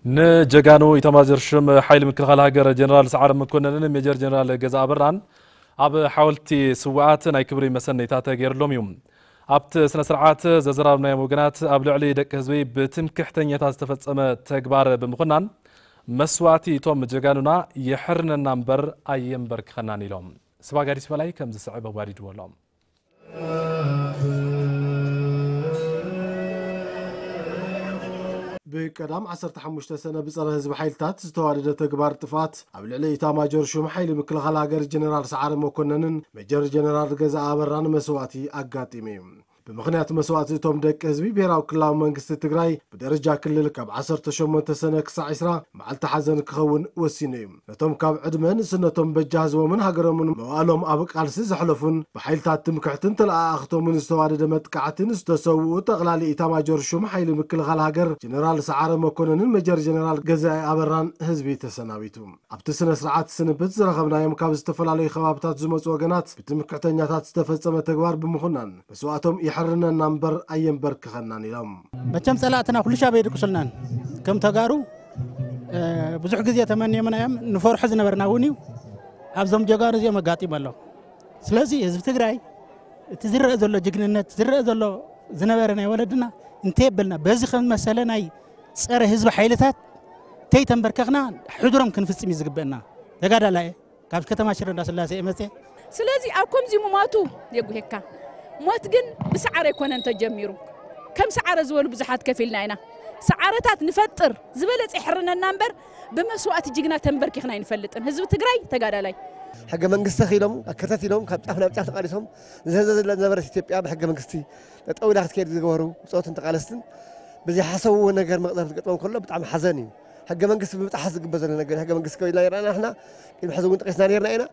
ንጀጋኑ ኢታማጆር ሹም ሓይሊ ምክልኻል ሃገር ጀነራል ሰዓረ መኮነንን ሜጀር ጀነራል ገዛ ኣበራን ኣብ ሓወልቲ ስውኣት ናይ ክብሪ መሰነይታ ተገይርሎም እዩ። ኣብቲ ስነ ስርዓት ዘዘራረብናዮም ወገናት ኣብ ልዕሊ ደቂ ህዝቢ ብትምክሕተኛታት ዝተፈጸመ ተግባር ብምኹናን መስዋእቲ እቶም ጀጋኑና የሕርነና እምበር ኣየንበርክኸናን ኢሎም። ስባጋዲስ በላይ ከም ዝስዕብ ኣዋዲድዎ ኣሎ። ብቀዳም ዓሰርተ ሓሙሽተ ሰነ ብጸረ ህዝቢ ሓይልታት ዝተዋደደ ተግባር ጥፍኣት ኣብ ልዕሊ ኢታማጆር ሹም ሓይሊ ምክልኻል ሃገር ጀነራል ሰዓረ መኮነንን ሜጀር ጀነራል ገዛ ኣበራን መስዋእቲ ኣጋጢሙ እዩ። ብምኽንያት መስዋእቲ እቶም ደቂ ህዝቢ ብሄራዊ ክልላዊ መንግስቲ ትግራይ ብደረጃ ክልል ካብ ዓሰርተ ሸሞንተ ሰነ ክሳዕ ዒስራ መዓልቲ ሓዘን ክኸውን ወሲኑ እዩ። ነቶም ካብ ዕድመ ንእስነቶም በጃ ህዝቦምን ሃገሮምን መዋእሎም ኣብ ቃልሲ ዘሕለፉን ብሓይልታት ትምክሕትን ተለኣኣኽቶምን ዝተዋደደ መጥቃዕትን ዝተሰውኡ ጠቕላሊ ኢታማጆር ሹም ሓይሊ ምክልኻል ሃገር ጀነራል ሰዓረ መኮነንን ሜጀር ጀነራል ገዛኢ ኣበራን ህዝቢ ተሰናቢቱ። ኣብቲ ስነ ስርዓት ስንብት ዝረኸብናዮም ካብ ዝተፈላለዩ ከባብታት ዝመፁ ወገናት ብትምክሕተኛታት ዝተፈፀመ ተግባር ብምኹናን መስዋእቶም የሕርነና እምበር ኣየንበርክኸናን ኢሎም። መቸም ጸላእትና ኩሉ ሻብ የድቅሱልናን ከም ተጋሩ ብዙሕ ግዜ ተመንዮምና እዮም። ንፈርሖ ዝነበርና እውን እዩ። ኣብዞም ጀጋኑ እዚኦም ኣጋጢሙ ኣሎ። ስለዚ ህዝቢ ትግራይ እቲ ዝረአ ዘሎ ጅግንነት ዝረአ ዘሎ ዝነበረ ናይ ወለድና እንተየበልና በዚ ከም መሰለ ናይ ፀረ ህዝቢ ሓይልታት ተይተንበርከኽና ሕድሮም ክንፍፅም እዩ ዝግበአና። ተጋዳላይ ካብ ከተማ ሽረ እንዳስላሴ እየ መፅየ። ስለዚ ኣብ ከምዚ ምሟቱ የጉሄካ። ሞት ግን ብሰዓረ ኣይኮነን ተጀሚሩ። ከም ሰዓረ ዝበሉ ብዙሓት ከፊልና ኢና። ሰዓረታት ንፈጥር ዝበለፀ ይሕርነና እምበር ብመስዋእቲ ጅግና ተንበርኪኽና ኣይንፈልጥን። ህዝቢ ትግራይ ተጋዳላይ። ሕገ መንግስቲ ኣኺሎም ኣከታቲሎም ካብ ጫፍ ናብ ጫፍ ተቓሊሶም ዝህዘ ዝነበረት ኢትዮጵያ ብሕገ መንግስቲ ጠጠው ኢላ ክትከይድ ዝገበሩ ብፆትን ተቓለስትን ብዘይሓሰብዎ ነገር መቕፀር ዝገጥሞም ከሎ ብጣዕሚ ሓዘን እዩ። ሕገ መንግስቲ ብምጥሓስ ዝግበር ዘሎ ነገር ሕገ መንግስቲ ከቢልና ይረኣና ንሕና ቅድሚ ሕዚ እውን ጠቂስና ነርና ኢና።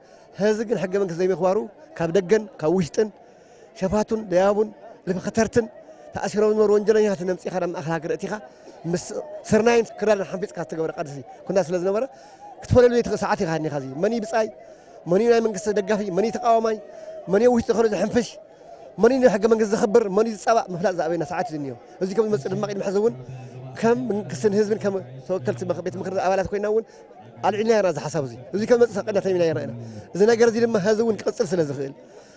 ሕዚ ግን ሕገ መንግስቲ ዘይምኽባሩ ካብ ደገን ካብ ውሽጥን ሸፋቱን ለያቡን ልፍኸተርትን ተኣሲሮም ዝነበሩ ወንጀለኛታት ነምፂኻ ናብ ማእኸል ሃገር እቲኻ ምስ ስርናይን ክዳን ሓንፊፅካ ዝተገበረ ቃልሲ ኩና ስለ ዝነበረ ክትፈለሉ ዘይትኽእል ሰዓት ኢኻ እኒኻ። እዚ መን እዩ ብፃይ፣ መን እዩ ናይ መንግስቲ ደጋፊ፣ መን እዩ ተቃዋማይ፣ መን እዩ ውሽጢ ከሎ ዝሕንፍሽ፣ መን እዩ ንሕገ መንግስቲ ዘኽብር፣ መን እዩ ዝፃባእ ምፍላጥ ዝኣበየና ሰዓት እዩ ዝኒኦ። እዚ ከም ዝመፅእ ድማ ቅድሚ ሕዚ እውን ከም መንግስትን ህዝብን ከም ተወከልቲ ቤት ምኽሪ ኣባላት ኮይና እውን ኣልዒልና ኢና እዚ ሓሳብ እዚ። እዚ ከም ዝመፅእ ሰቀድና ተሚና ይረኣና። እዚ ነገር እዚ ድማ ሕዚ እውን ክቕፅል ስለ ዝኽእል፣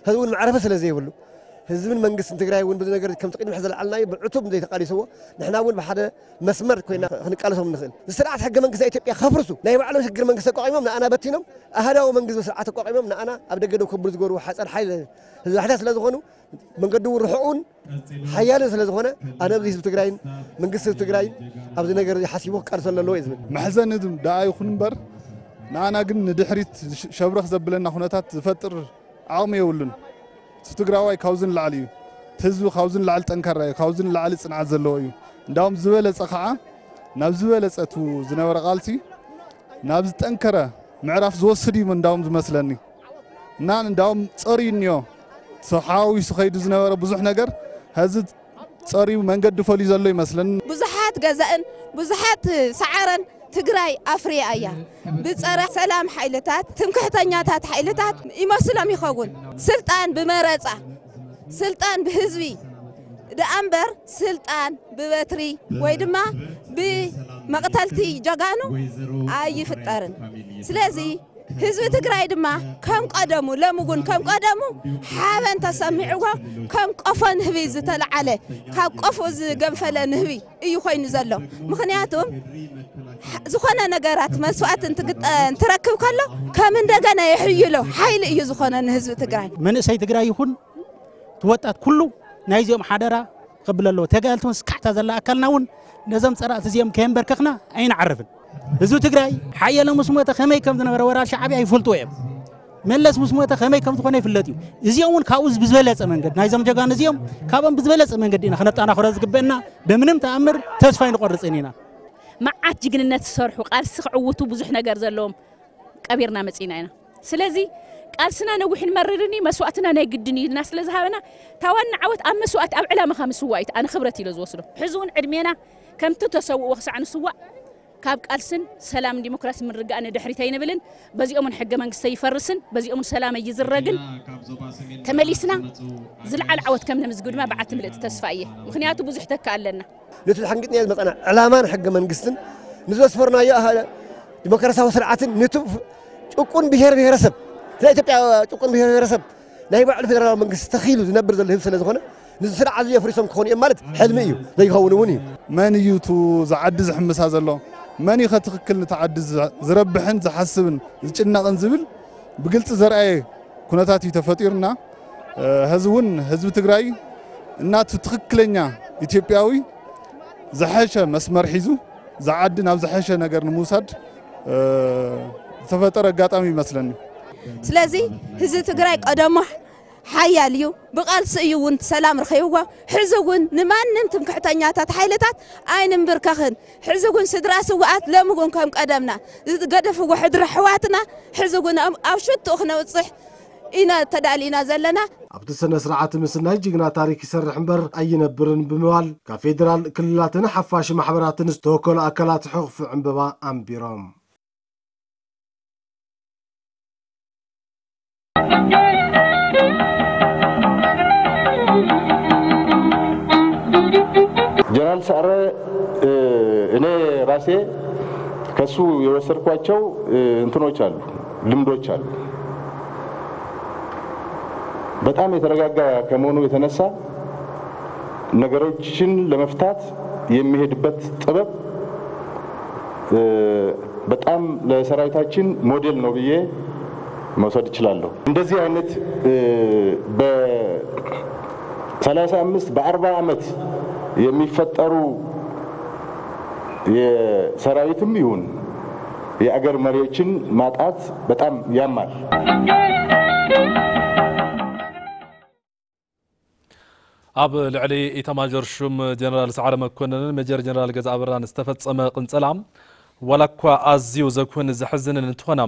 ሕዚ እውን መዕረፊ ስለ ዘይብሉ፣ ህዝብን መንግስትን ትግራይ እውን በዚ ነገር ከምቲ ቅድሚ ሕዚ ዝለዓልናዮ ብዕቱብ ዘይተቃሊስዎ ንሕና እውን ብሓደ መስመር ኮይና ክንቃለሶም ንኽእል። እዚ ስርዓት ሕገ መንግስቲ ኢትዮጵያ ከፍርሱ ናይ ባዕሎም ሽግር መንግስቲ ኣቋቒሞም ንኣና በቲኖም ኣህዳዊ መንግስቲ ስርዓት ኣቋቒሞም ንኣና ኣብ ደገ ደው ከብሉ ዝገብሩ ሓፀር ሓይል ህዝቢ ሓይልታት ስለ ዝኾኑ መንገዲ እውን ርሑቕን ሓያልን ስለ ዝኾነ ኣነ ኣብዚ ህዝቢ ትግራይን መንግስቲ ህዝቢ ትግራይን ኣብዚ ነገር እዚ ሓሲቡ ክቃልሰሉ ኣለዎ እየ ዝብል። መሕዘኒ ዝም ደኣ ይኹን እምበር ንኣና ግን ንድሕሪት ሸብረኽ ዘብለና ኩነታት ዝፈጥር ዓቕሚ የብሉን። እቲ ትግራዋይ ካብዚ ንላዕሊ እዩ። እቲ ህዝቢ ካብዚ ንላዕሊ ጠንካራ እዩ። ካብዚ ንላዕሊ ፅንዓት ዘለዎ እዩ። እንዳውም ዝበለፀ ከዓ ናብ ዝበለፀ እቲ ዝነበረ ቃልሲ ናብ ዝጠንከረ ምዕራፍ ዝወስድ እዩ እንዳውም ዝመስለኒ። እና እንዳውም ፀርዩ እኒኦ ተሓዋዊሱ ከይዱ ዝነበረ ብዙሕ ነገር ሀዚ ፀርዩ መንገዲ ፈልዩ ዘሎ ይመስለኒ። ብዙሓት ገዛእን ብዙሓት ሰዓረን ትግራይ ኣፍርያ እያ። ብፀረ ሰላም ሓይልታት ትምክሕተኛታት ሓይልታት ይመስሎም ይኸውን። ስልጣን ብመረፃ ስልጣን ብህዝቢ ደኣ እምበር ስልጣን ብበትሪ ወይ ድማ ብመቕተልቲ ጀጋኑ ኣይፍጠርን። ስለዚ ህዝቢ ትግራይ ድማ ከም ቀደሙ ሎሚ እውን ከም ቀደሙ ሓበን ተሰሚዕዎ ከም ቆፎ ንህቢ ዝተለዓለ ካብ ቆፎ ዝገንፈለ ንህቢ እዩ ኮይኑ ዘሎ። ምክንያቱም ዝኾነ ነገራት መስዋእቲ እንትረክብ ከሎ ከም እንደገና የሕይሎ ሓይሊ እዩ ዝኾነ ንህዝቢ ትግራይ። መንእሰይ ትግራይ ይኹን እቲ ወጣት ኩሉ ናይዚኦም ሓደራ ክብል ኣለዎ። ተጋልቲ መስካሕታ ዘላ ኣካልና እውን ነዞም ፀራእቲ እዚኦም ከየንበርከኽና ኣይንዓርፍን። ህዝቢ ትግራይ ሓየሎም ምስ ሞተ ከመይ ከም ዝነበረ ወራር ሻዕብያ ይፈልጥዎ እዮም። መለስ ምስ ሞተ ከመይ ከም ዝኾነ ይፍለጥ እዩ። እዚኦም እውን ካብኡ ብዝበለፀ መንገዲ ናይዞም ጀጋኑ እዚኦም ካብኦም ብዝበለፀ መንገዲ ኢና ክነጠናኽሮ ዝግበአና። ብምንም ተኣምር ተስፋ ኣይንቆርፅን ኢና። መዓት ጅግንነት ዝሰርሑ ቃልሲ ክዕውቱ ብዙሕ ነገር ዘለዎም ቀቢርና መፂና ኢና። ስለዚ ቃልስና ነዊሕን መሪርን እዩ፣ መስዋእትና ናይ ግድን እዩ ኢልና ስለ ዝሃበና፣ እታ ዋና ዓወት ኣብ መስዋእቲ፣ ኣብ ዕላማኻ ምስዋእ እዩ ኣነ ክብረት ኢለ ዝወስዶ። ሕዚ እውን ዕድሜና ከምቲ ተሰውእዎ ክሳዕ ንስዋእ ካብ ቃልስን ሰላምን ዲሞክራሲ ምርግጋእ ንድሕሪት ኣይንብልን። በዚኦምን ሕገ መንግስቲ ይፈርስን፣ በዚኦምን ሰላም ይዝረግን። ተመሊስና ዝለዓለ ዓወት ከም ነምዝግብ ድማ በዓልቲ ምልእቲ ተስፋ እየ። ምኽንያቱ ብዙሕ ተካ ኣለና። ነቲ ተሓንጊጥናዮ ዝመጻና ዕላማን ሕገ መንግስትን፣ ንዘስፈርናዮ ኣህ-፣ ዲሞክራሲያዊ ስርዓትን፣ ነቲ ጭቁን ብሄር ብሄረሰብ፣ ናይ ኢትዮጵያ ጭቁን ብሄር ብሄረሰብ ናይ ባዕሉ ፌደራላዊ መንግስቲ ተኺሉ ዝነብር ዘሎ ህዝቢ ስለ ዝኾነ፣ ንዚ ስርዓት እዚ ኣፍሪሶም ክኾኑ እዮም ማለት ሕልሚ እዩ፣ ዘይኸውን እውን እዩ። መን እዩ እቲ ዝዓዲ ዝሕምሳ ዘሎ? መን እዩ ከ ትኽክል ነቲ ዓዲ ዝ-፣ ዝረብሕን ዝሓስብን ዝጭነቕን ዝብል ብግልፂ ዘርኣየ ኩነታት እዩ ተፈጢሩና። እ፣ ህዝቢ እውን፣ ህዝቢ ትግራይ እናቱ ትኽክለኛ ኢትዮጵያዊ ዝሐሸ መስመር ሒዙ ዝዓዲ ናብ ዝሐሸ ነገር ንምውሳድ፣ እ፣ ዝተፈጠረ ኣጋጣሚ ይመስለኒ። ስለዚ ህዝቢ ትግራይ ቀደሙ ሓያል እዩ። ብቃልሲ እዩ እውን ሰላም ረኺብዎ። ሕዚ እውን ንማንም ትምክሕተኛታት ሓይልታት ኣይንንብርከኽን። ሕዚ እውን ስድራ ስውኣት ሎሚ እውን ከም ቀደምና ዝገደፍዎ ሕድሪ ኣሕዋትና ሕዚ እውን ኣብ፣ ኣብ ሽትኡ ክነውፅሕ ኢና ተዳሊና ዘለና። ኣብቲ ስነ ስርዓት ምስናይ ጅግና ታሪክ ይሰርሕ እምበር ኣይነብርን ብምባል ካብ ፌዴራል ክልላትን ሓፋሽ ማሕበራትን ዝተወከሉ ኣካላት ሕቑፊ ዕምበባ ኣንቢሮም። ጀነራል ሰዓረ፣ እ፣ እኔ ራሴ ከሱ የወሰድኳቸው፣ እ፣ እንትኖች አሉ፣ ልምዶች አሉ። በጣም የተረጋጋ ከመሆኑ የተነሳ ነገሮችን ለመፍታት የሚሄድበት ጥበብ፣ እ፣ በጣም ለሰራዊታችን ሞዴል ነው ብዬ መውሰድ እችላለሁ። እንደዚህ አይነት፣ እ፣ በ ሠላሳ አምስት በአርባ ዓመት የሚፈጠሩ የሰራዊትም ይሁን የአገር መሪዎችን ማጣት በጣም ያማል። ኣብ ልዕሊ ኢታማዦር ሹም ጀነራል ሰዓረ መኮነንን ሜጀር ጀነራል ገዛ ኣበራን ዝተፈጸመ ቅንጸላ ዋላ እኳ ኣዝዩ ዘኩን ዘሕዝንን እንትኾና፣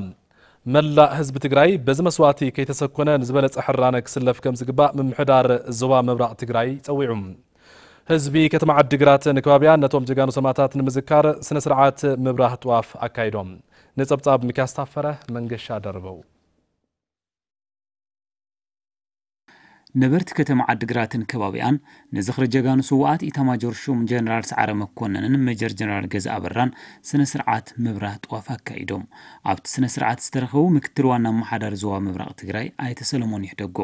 መላእ ህዝቢ ትግራይ በዚ መስዋእቲ ከይተሰኮነ ንዝበለጸ ሕራነ ክስለፍ ከም ዝግባእ ምምሕዳር ዞባ ምብራቕ ትግራይ ጸዊዑ። ህዝቢ ከተማ ዓዲግራትን ከባቢያን ነቶም ጀጋኑ ሰማእታት ንምዝካር ስነ ስርዓት ምብራህ ጥዋፍ ኣካይዶም። ነጸብጻብ ሚኪያስ ታፈረ መንገሻ ደርበው። ነበርቲ ከተማ ዓዲግራትን ከባቢኣን ንዝኽሪ ጀጋኑ ስውኣት ኢታማጆር ሹም ጀነራል ሰዓረ መኮነንን ሜጀር ጀነራል ገዛ ኣበራን ስነ ስርዓት ምብራህ ጥዋፍ ኣካይዶም። ኣብቲ ስነ ስርዓት ዝተረኸቡ ምክትል ዋና ኣመሓዳሪ ዞባ ምብራቕ ትግራይ ኣይተ ሰለሞን ይሕደጎ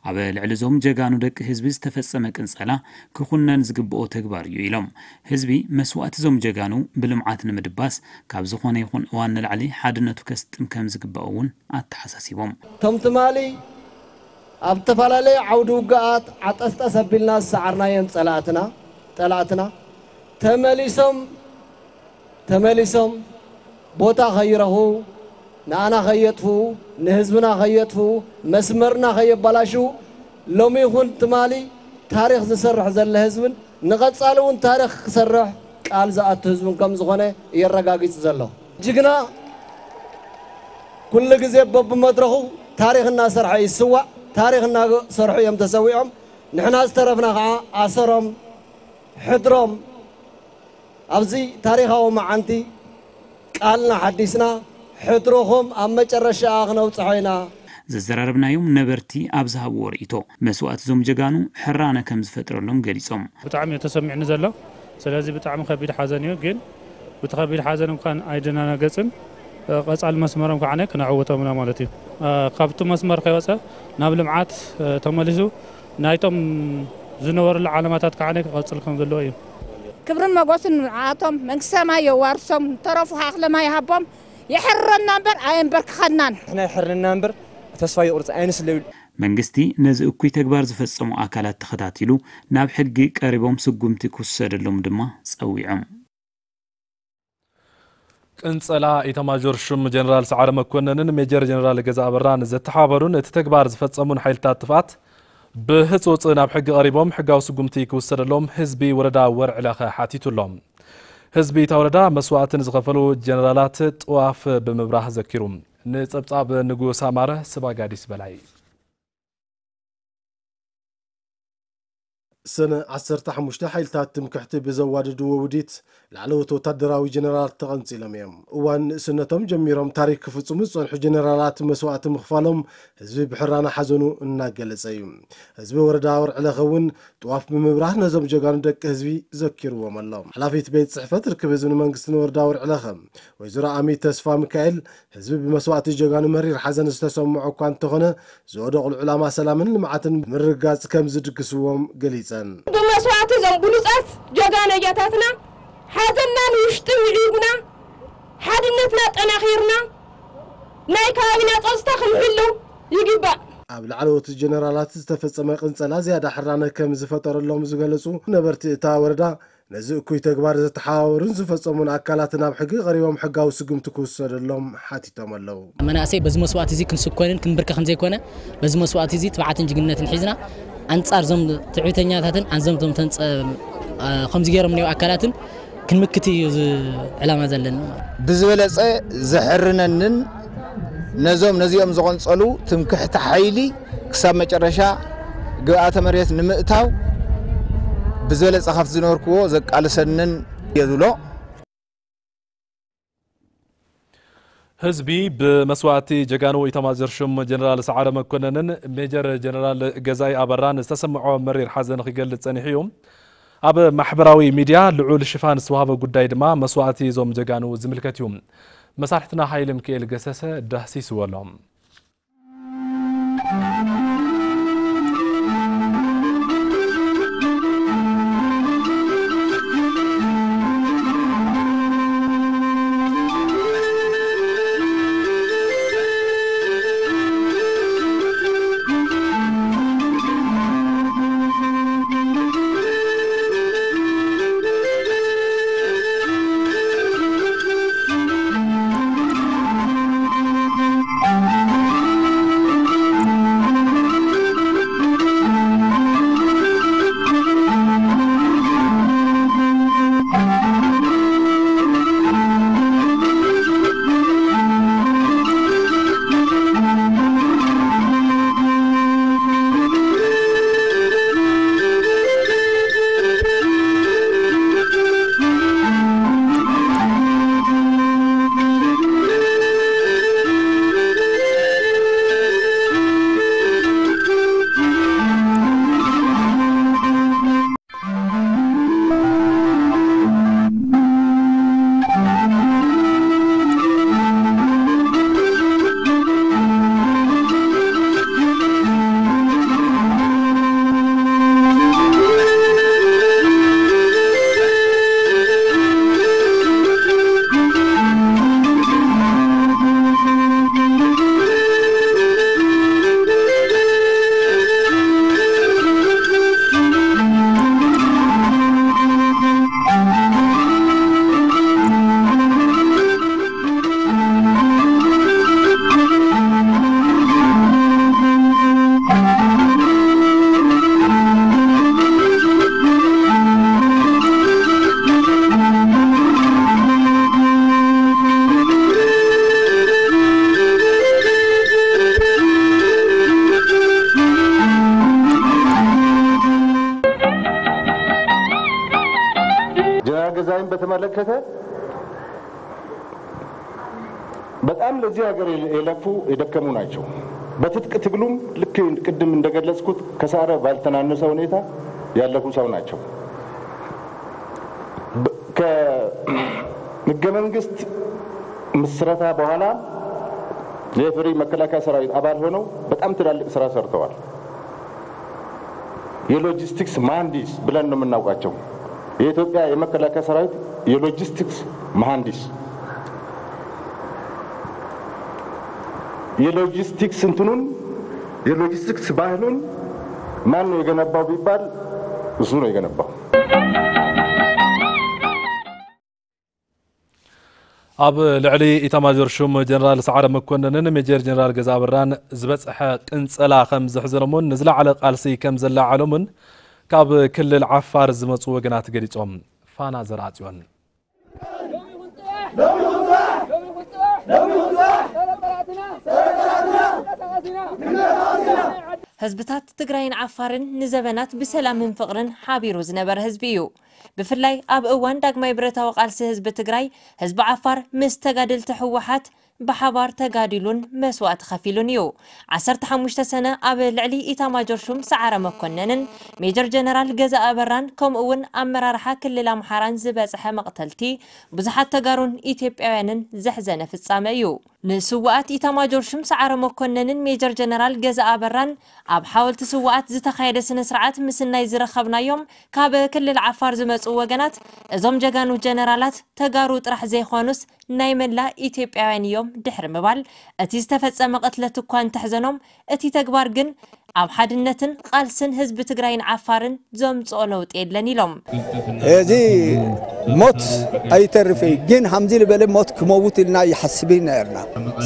ኣብ ልዕሊ እዞም ጀጋኑ ደቂ ህዝቢ ዝተፈጸመ ቅንጸላ ክኹነን ዝግብኦ ተግባር እዩ ኢሎም። ህዝቢ መስዋእቲ እዞም ጀጋኑ ብልምዓት ንምድባስ ካብ ዝኾነ ይኹን እዋን ንላዕሊ ሓድነቱ ከስጥም ከም ዝግባእ እውን ኣተሓሳሲቦም። እቶም ትማሊ ኣብ ዝተፈላለዩ ዓውዲ ውግኣት ዓጠስጠስ ኣቢልና ዝሰዓርናዮም ጸላእትና፣ ጠላእትና፣ ተመሊሶም፣ ተመሊሶም ቦታ ከይረኽቡ፣ ንኣና ከየጥፍኡ፣ ንህዝብና ከየጥፍኡ፣ መስመርና ከየባላሽዉ፣ ሎሚ ይኹን ትማሊ ታሪኽ ዝሰርሕ ዘለ ህዝብን ንቐጻሊ እውን ታሪኽ ክሰርሕ ቃል ዝኣቱ ህዝብን ከም ዝኾነ የረጋጊጹ ዘሎ። ጅግና ኩሉ ግዜ በብመድረኹ ታሪኽ እናሰርሐ ይስዋእ፣ ታሪኽ እናሰርሑ እዮም ተሰዊዖም። ንሕና ዝተረፍና ከዓ ኣሰሮም፣ ሕድሮም ኣብዚ ታሪኻዊ መዓንቲ ቃልና ሓዲስና ሕድሮኹም ኣብ መጨረሻኣ ክነውጽሖ ኢና። ዘዘራረብናዮም ነበርቲ ኣብ ዝሃብዎ ርእይቶ፣ መስዋእቲ እዞም ጀጋኑ ሕራነ ከም ዝፈጥረሎም ገሊጾም። ብጣዕሚ እዩ ተሰሚዕኒ ዘሎ። ስለዚ ብጣዕሚ ከቢድ ሓዘን እዩ፣ ግን ብቲ ከቢድ ሓዘን እንኳን ኣይደናነገጽን፣ እ፣ ቀጻሊ መስመሮም ከዓ ክነዕውቶም ኢና ማለት እዩ። እ፣ ካብቲ መስመር ከይወጸ ናብ ልምዓት፣ እ፣ ተመሊሱ ናይቶም ዝነበሩሉ ዓለማታት ከዓ ክቐጽል ከም ዘለዎ እዩ። ክብርን መጎስን ንዓቶም መንግስተ ሰማይ የዋርሶም፣ ንተረፉ ከዓ ክለማ ይሃቦም። የሕርረና እምበር ኣየንበርክኸናን። ንሕና የሕርነና እምበር ተስፋ የቑርጽ ኣየንስለዩ። መንግስቲ ነዚ እኩይ ተግባር ዝፈጸሙ ኣካላት ተኸታቲሉ ናብ ሕጊ ቀሪቦም ስጉምቲ ክውሰደሎም ድማ ጸዊዖም። ቅንጸላ ኢታማዦር ሹም ጀነራል ሰዓረ መኮነንን ሜጀር ጀነራል ገዛ ኣበራን ዘተሓባበሩን እቲ ተግባር ዝፈጸሙን ሓይልታት ጥፍኣት ብህጹጽ ናብ ሕጊ ቀሪቦም ሕጋዊ ስጉምቲ ክውሰደሎም ህዝቢ ወረዳ ወርዒ ለኸ ሓቲቱ ኣሎ። ህዝቢ እታ ወረዳ መስዋእቲ ንዝኸፈሉ ጀነራላት ጥዋፍ ብምብራህ ዘኪሩ። ንጸብጻብ ንጉስ ኣማረ ስባጋዲስ በላይ። ሰነ ዓሰርተ ሓሙሽተ ሓይልታት ትምክሕቲ ብዘዋደድዎ ውዲት ላዕለዎት ወታደራዊ ጀነራላት ተቐንጺሎም እዮም። እዋን ንእስነቶም ጀሚሮም ታሪክ ክፍጽሙ ዝጸንሑ ጀነራላት መስዋእቲ ምኽፋሎም ህዝቢ ብሕራነ ሓዘኑ እናገለጸ እዩ። ህዝቢ ወረዳ ወርዕለኸ እውን ጥዋፍ ብምብራህ ነዞም ጀጋኑ ደቂ ህዝቢ ዘኪርዎም ኣሎ። ሓላፊት ቤት ጽሕፈት ርክብ ህዝብን መንግስትን ወረዳ ወርዕለኸ ወይዘሮ ኣሚ ተስፋ ሚካኤል ህዝቢ ብመስዋእቲ ጀጋኑ መሪር ሓዘን ዝተሰምዖ እኳ እንተኾነ ዝወደቑሉ ዕላማ ሰላምን ልምዓትን ምርግጋጽ ከም ዝድግስዎም ገሊጸን። ብመስዋእቲ እዞም ብሉጻት ጀጋኑ ኣያታትና ሓዘንና ንውሽጢ ምዒጉና ሓድነትና ጠናኺርና ናይ ከባቢና ጸጥታ ክንሕሉ ይግባእ። ኣብ ላዕለዎት ጀነራላት ዝተፈጸመ ቅንጸላ ዝያዳ ሕራነ ከም ዝፈጠረሎም ዝገለጹ ነበርቲ እታ ወረዳ ነዚ እኩይ ተግባር ዘተሓባበሩን ዝፈጸሙን ኣካላት ናብ ሕጊ ቀሪቦም ሕጋዊ ስጉምቲ ክውሰደሎም ሓቲቶም ኣለዉ። መናእሰይ በዚ መስዋእቲ እዚ ክንስኮንን ክንብርከኽን ዘይኮነ በዚ መስዋእቲ እዚ ትብዓትን ጅግንነትን ሒዝና ኣንጻር ዞም ትዕቢተኛታትን ኣንዞም ቶም ተንጸ-፣ አ፣ ከምዚ ገይሮም እኒኦ ኣካላትን ክንምክት እዩ እዚ ዕላማ ዘለና። ብዝበለጸ ዘሕርነንን ነዞም ነዚኦም ዝቐንጸሉ ትምክሕቲ ሓይሊ ክሳብ መጨረሻ ግብኣተ መሬት ንምእታው ብዝበለጸ ካብቲ ዝነበርክዎ ዘቃልሰንን እየ ዝብሎ። ህዝቢ ብመስዋእቲ ጀጋኑ ኢታማዦር ሹም ጀነራል ሰዓረ መኮነንን ሜጀር ጀነራል ገዛኢ ኣበራን ዝተሰምዖ መሪር ሓዘን ክገልጽ ጸኒሑ እዩ። ኣብ ማሕበራዊ ሚድያ ልዑል ሽፋን ዝተዋህበ ጉዳይ ድማ መስዋእቲ እዞም ጀጋኑ ዝምልከት እዩ። መሳርሕትና ሃይለ ሚካኤል ገሰሰ ዳህሲስዎ ኣሎ። ጀነራል ገዛይን በተመለከተ በጣም ለዚህ ሀገር የለፉ የደከሙ ናቸው። በትጥቅ ትግሉም ልክ ቅድም እንደገለጽኩት ከሳረ ባልተናነሰ ሁኔታ ያለፉ ሰው ናቸው። ከህገ መንግስት ምስረታ በኋላ የኢፌዴሪ መከላከያ ሰራዊት አባል ሆነው በጣም ትላልቅ ስራ ሰርተዋል። የሎጂስቲክስ መሐንዲስ ብለን ነው የምናውቃቸው። የኢትዮጵያ የመከላከያ ሰራዊት የሎጂስቲክስ መሐንዲስ፣ የሎጂስቲክስ እንትኑን የሎጂስቲክስ ባህሉን ማን ነው የገነባው ቢባል እሱ ነው የገነባው። ኣብ ልዕሊ ኢታማዦር ሹም ጀነራል ሰዓረ መኮነንን ሜጀር ጀነራል ገዛ ኣበራን ዝበፅሐ ቅንፀላ ከም ዘሕዘኖምን ንዝለዓለ ቃልሲ ከም ዘለዓዕሎምን ካብ ክልል ዓፋር ዝመፁ ወገናት ገሊፆም። ፋና ዘርኣፅዮን። ህዝብታት ትግራይን ዓፋርን ንዘበናት ብሰላምን ፍቕርን ሓቢሩ ዝነበረ ህዝቢ እዩ። ብፍላይ ኣብ እዋን ዳግማይ ብረታዊ ቃልሲ ህዝቢ ትግራይ፣ ህዝቢ ዓፋር ምስ ተጋደልቲ ህወሓት ብሓባር ተጋዲሉን መስዋእቲ ከፊሉን እዩ። ዓሰርተ ሓሙሽተ ሰነ ኣብ ልዕሊ ኢታማጆር ሹም ሰዓረ መኮነንን ሜጀር ጀነራል ገዛ ኣበራን ከምኡ እውን ኣመራርሓ ክልል ኣምሓራን ዝበፅሐ መቕተልቲ ብዙሓት ተጋሩን ኢትዮጵያውያንን ዘሕዘነ ፍጻመ እዩ። ንስውኣት ኢታማጆር ሹም ሰዓረ መኮነንን ሜጀር ጀነራል ገዛ ኣበራን ኣብ ሓወልቲ ስውኣት ዝተኻየደ ስነ ስርዓት ምስናይ ዝረኸብናዮም ካብ ክልል ዓፋር ዝመፁ ወገናት፣ እዞም ጀጋኑ ጀነራላት ተጋሩ ጥራሕ ዘይኮኑስ ናይ መላእ ኢትዮጵያውያን እዮም ድሕሪ ምባል፣ እቲ ዝተፈጸመ ቅትለት እኳ እንተሕዘኖም፣ እቲ ተግባር ግን ኣብ ሓድነትን ቃልስን ህዝቢ ትግራይን ዓፋርን ዘምጽኦ ለውጢ የለን ኢሎም። እዚ ሞት ኣይተርፍ እዩ፣ ግን ሃምዚ ዝበለ ሞት ክመውት ኢልና ይሓስብ ነርና።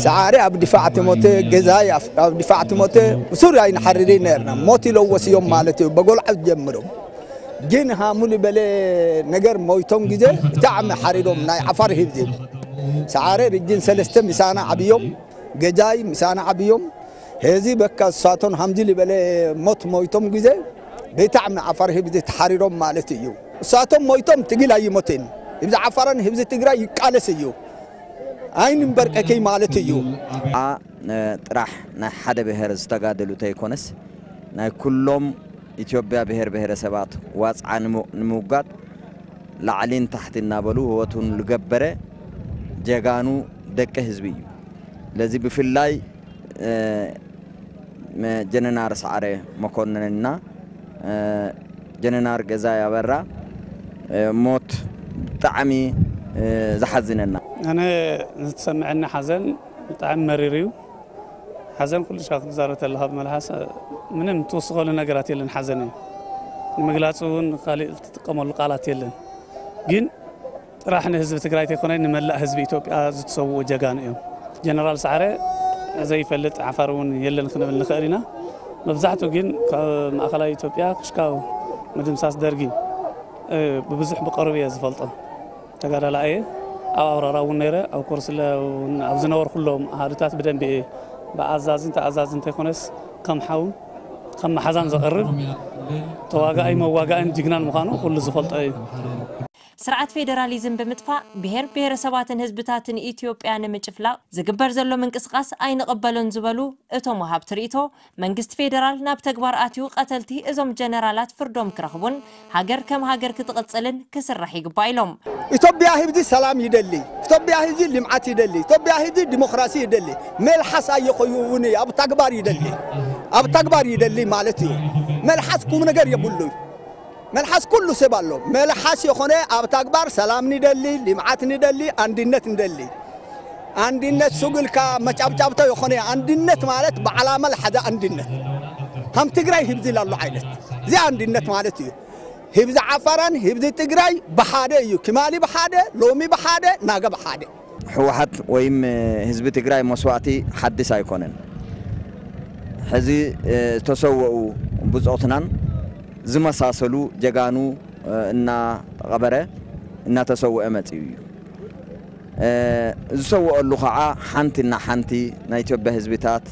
ሰዓሪ ኣብ ድፋዕ ተሞተ፣ ገዛይ ኣብ ኣብ ድፋዕ ተሞተ፣ ብሱር ኣይንሓርድ ነርና። ሞት ኢሎ ወስዮም ማለት እዩ፣ በጎልዓ ጀምሮም። ግን ሃሙ ዝበለ ነገር ሞይቶም ግዜ ብጣዕሚ ሓሪዶም ናይ ዓፋር ህዝቢ። ሰዓረ ርጅን ሰለስተ ምሳና ዓብዮም፣ ገዛይ ምሳና ዓብዮም። ሄዚ በቃ እሳቶን ሃምዚ ዝበለ ሞት ሞይቶም ግዜ ብጣዕሚ ዓፋር ህዝቢ ተሓሪዶም ማለት እዩ። እሳቶም ሞይቶም ትግል ኣይሞትን። ህዝቢ ዓፋርን ህዝቢ ትግራይ ይቃለስ እዩ። ኣይንንበርቀከይ ማለት እዩ። ጥራሕ ናይ ሓደ ብሄር ዝተጋደሉ ተይኮነስ ናይ ኩሎም ኢትዮጵያ ብሄር ብሄረሰባት ዋፅዓ ንምውጋድ ላዕሊን ታሕቲ እናበሉ ህይወቱን ዝገበረ ጀጋኑ ደቂ ህዝቢ እዩ። ስለዚ ብፍላይ ጀነራል ሰዓረ መኮነንና ጀነራል ገዛኢ ኣበራ ሞት ብጣዕሚ ዝሓዝነና። ኣነ ዝተሰምዐኒ ሓዘን ብጣዕሚ መሪር እዩ። ሓዘን ኩሉ ሻዕ ክትዛረብ ተለኻ ብመልሓስ ምንም ትውስኸሉ ነገራት የለን። ሓዘን እዩ ንምግላፅ እውን ካሊእ ትጥቀመሉ ቃላት የለን። ግን ጥራሕ ንህዝቢ ትግራይ ተይኮነ ንመላእ ህዝቢ ኢትዮጵያ ዝተሰውኡ ጀጋኑ እዮም። ጀነራል ሰዓረ ዘይፈልጥ ዓፋር እውን የለን ክንብል ንኽእል ኢና። መብዛሕትኡ ግን ካብ ማእኸላይ ኢትዮጵያ ክሽካው ምድምሳስ ደርጊ ብብዙሕ ብቐሩብ እየ ዝፈልጦ። ተጋዳላይ እየ። ኣብ ኣውራራ እውን ነይረ፣ ኣብ ኮርስለ እውን ኣብ ዝነበርኩሎም ኣሃዱታት ብደንቢ እየ ብኣዛዝን ተኣዛዝን እንተይኮነስ ከም ሓውን ከም መሓዛን ዘቐርብ ተዋጋኣይ መዋጋእን ጅግናን ምዃኑ ኩሉ ዝፈልጦ እዩ። ስርዓት ፌደራሊዝም ብምጥፋእ ብሄር ብሄረሰባትን ህዝብታትን ኢትዮጵያ ንምጭፍላቕ ዝግበር ዘሎ ምንቅስቓስ ኣይንቕበሎን ዝበሉ እቶም ወሃብቲ ርእይቶ፣ መንግስቲ ፌደራል ናብ ተግባር ኣትዩ ቀተልቲ እዞም ጀነራላት ፍርዶም ክረኽቡን ሃገር ከም ሃገር ክትቕፅልን ክስራሕ ይግባእ ኢሎም። ኢትዮጵያ ህዝቢ ሰላም ይደሊ፣ ኢትዮጵያ ህዝቢ ልምዓት ይደሊ፣ ኢትዮጵያ ህዝቢ ዲሞክራሲ ይደሊ። መልሓስ ኣየኸይውን ኣብ ተግባር ይደሊ፣ ኣብ ተግባር ይደሊ ማለት እዩ። መልሓስ ቁም ነገር የብሉን። መልሓስ ኩሉ ሰብ ኣሎ። መልሓስ የኾነ ኣብ ተግባር ሰላም ንደሊ፣ ልምዓት ንደሊ፣ ኣንድነት ንደሊ። ኣንድነት ሱግ ኢልካ መጫብጫብቶ የኾነ። ኣንድነት ማለት ብዓላማ ዝሓዘ ኣንድነት። ከም ትግራይ ህብዚ ላሉ ዓይነት እዚ ኣንድነት ማለት እዩ። ህብዚ ዓፋራን ህብዚ ትግራይ ብሓደ እዩ። ኪማሊ ብሓደ፣ ሎሚ ብሓደ፣ ናገ ብሓደ። ህወሓት ወይም ህዝቢ ትግራይ መስዋእቲ ሓድስ ኣይኮነን። ሕዚ ዝተሰወኡ ብፆትናን ዝመሳሰሉ ጀጋኑ እናቐበረ እናተሰወአ መፂኡ እዩ። ዝሰወአሉ ከዓ ሓንቲ እና ሓንቲ ናይ ኢትዮጵያ ህዝብታት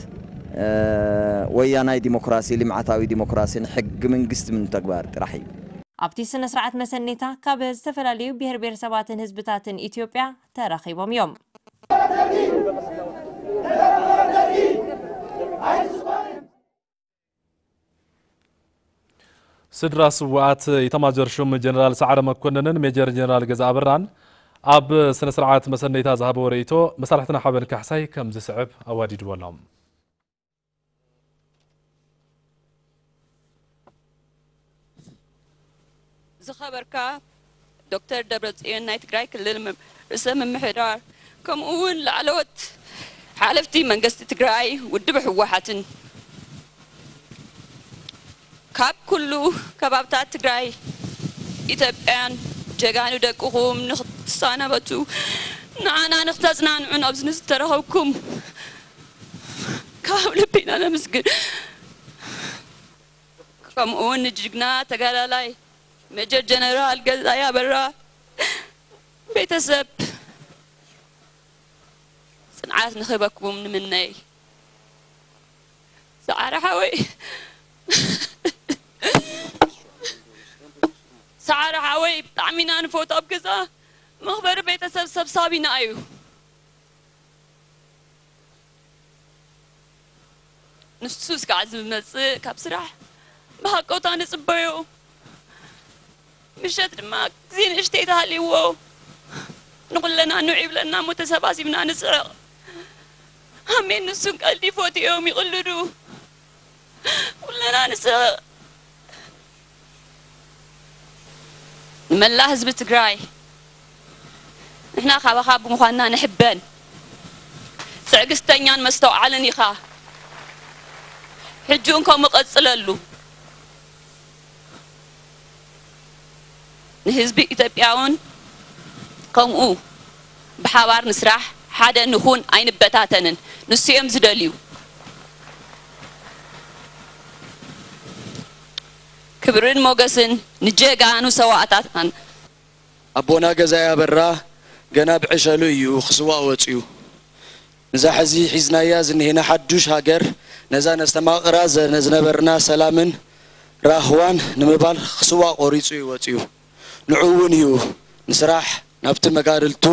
ወያናይ ዲሞክራሲ፣ ልምዓታዊ ዲሞክራሲን ሕጊ መንግስቲ ምንተግባር ጥራሕ እዩ። ኣብቲ ስነ ስርዓት መሰኔታ ካብ ዝተፈላለዩ ብሄር ብሄረሰባትን ህዝብታትን ኢትዮጵያ ተረኺቦም እዮም። ስድራ ስውኣት ኢታማጆር ሹም ጀነራል ሰዓረ መኮንንን ሜጀር ጀነራል ገዛ ኣበራን ኣብ ስነ ስርዓት መሰነይታ ዝሃበዎ ርእይቶ መሳርሕትና ሓበን ካሕሳይ ከም ዝስዕብ ኣዋዲድዎ ኣሎ። ዝኸበርካ ዶክተር ደብረፅዮን ናይ ትግራይ ክልል ርእሰ ምምሕዳር ከምኡ እውን ላዕለዎት ሓለፍቲ መንግስቲ ትግራይ ውድብ ህወሓትን ካብ ኩሉ ከባብታት ትግራይ ኢትዮጵያን ጀጋኑ ደቅኹም ንክትሰናበቱ ንዓና ንክተፅናንዑን ኣብዚ ዝተረኸብኩም ካብ ልቢ ኢና ነመስግን። ከምኡ እውን ንጅግና ተጋዳላይ ሜጀር ጀነራል ገዛኢ ኣበራ ቤተሰብ ፅንዓት ንክህበኩም ንምነይ። ሰዓረ ሓወይ፣ ሰዓረ ሓወይ ብጣዕሚ ኢና ንፈቱ። ኣብ ገዛ መኽበሪ ቤተሰብ ሰብሳቢና እዩ። ንሱ እስካዕ ዝመጽእ ካብ ስራሕ ብሃቀውታ ንጽበዮ። ምሸት ድማ ግዜ ንእሽተይ ተሃልይዎ ንኹለና ንውዕ ይብለና እሞ ተሰባሲብና ንስሕቕ። ኣሜን። ንሱን ቀልዲ ይፈትዮም ይቕልዱ። ኩለና ንስሕቕ። ንመላእ ህዝቢ ትግራይ ንሕና ካባኻ ብምዃንና ንሕበን። ትዕግስተኛን መስተውዓልን ኢኻ። ሕጂ እውን ከምኡ ቀጽለሉ። ንህዝቢ ኢትዮጵያ እውን ከምኡ ብሓባር ንስራሕ፣ ሓደ ንኹን፣ ኣይንበታተንን። ንሱ እዮም ዝደልዩ። ክብርን ሞገስን ንጀጋኑ ሰዋእታትናን። ኣቦና ገዛኢ ኣበራ ገና ብዕሸሉ እዩ ክስዋእ ወፅዩ። ንዛ ሕዚ ሒዝናያ ዝንሄና ሓዱሽ ሃገር፣ ነዛ ነስተማቕራ ዘ-፣ ዝነበርና ሰላምን ራህዋን ንምባል ክስዋእ ቆሪፁ እዩ ወፅዩ። ንዑ እውን እዩ ንስራሕ ናብቲ መጋድልቱ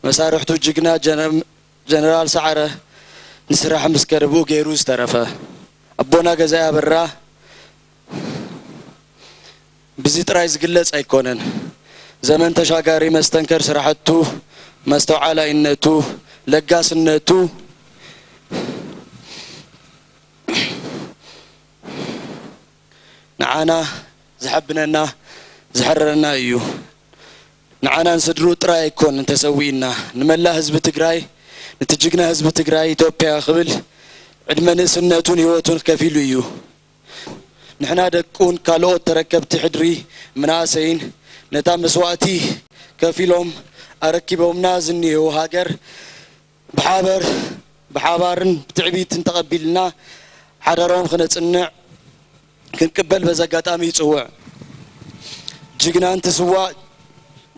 መሳርሕቱ ጅግና ጀነ-፣ ጀነራል ሰዓረ ንስራሕ ምስ ከደብኡ ገይሩ ዝተረፈ። ኣቦና ገዛኢ ኣበራ ብዚ ጥራይ ዝግለጽ ኣይኮነን። ዘመን ተሻጋሪ መስተንከር ስራሕቱ፣ መስተውዓላይነቱ፣ ለጋስነቱ ንዓና ዘሐብነና ዘሕረረና እዩ። ንዓና ንስድርኡ ጥራይ ኣይኮን እንተሰዊእና፣ ንመላእ ህዝቢ ትግራይ፣ ነቲ ጅግና ህዝቢ ትግራይ ኢትዮጵያ ክብል ዕድመ ንእስነቱን ህይወቱን ከፊሉ እዩ። ንሕና ደቁን ካልኦት ተረከብቲ ሕድሪ መናእሰይን ነታ መስዋእቲ ከፊሎም ኣረኪቦምና ዝኒሄው ሃገር ብሓበር፣ ብሓባርን ብትዕቢትን ተቐቢልና ሓዳሮም ክነጽንዕ ክንቅበል በዚ ኣጋጣሚ ይጽውዕ። ጅግና እንትስዋእ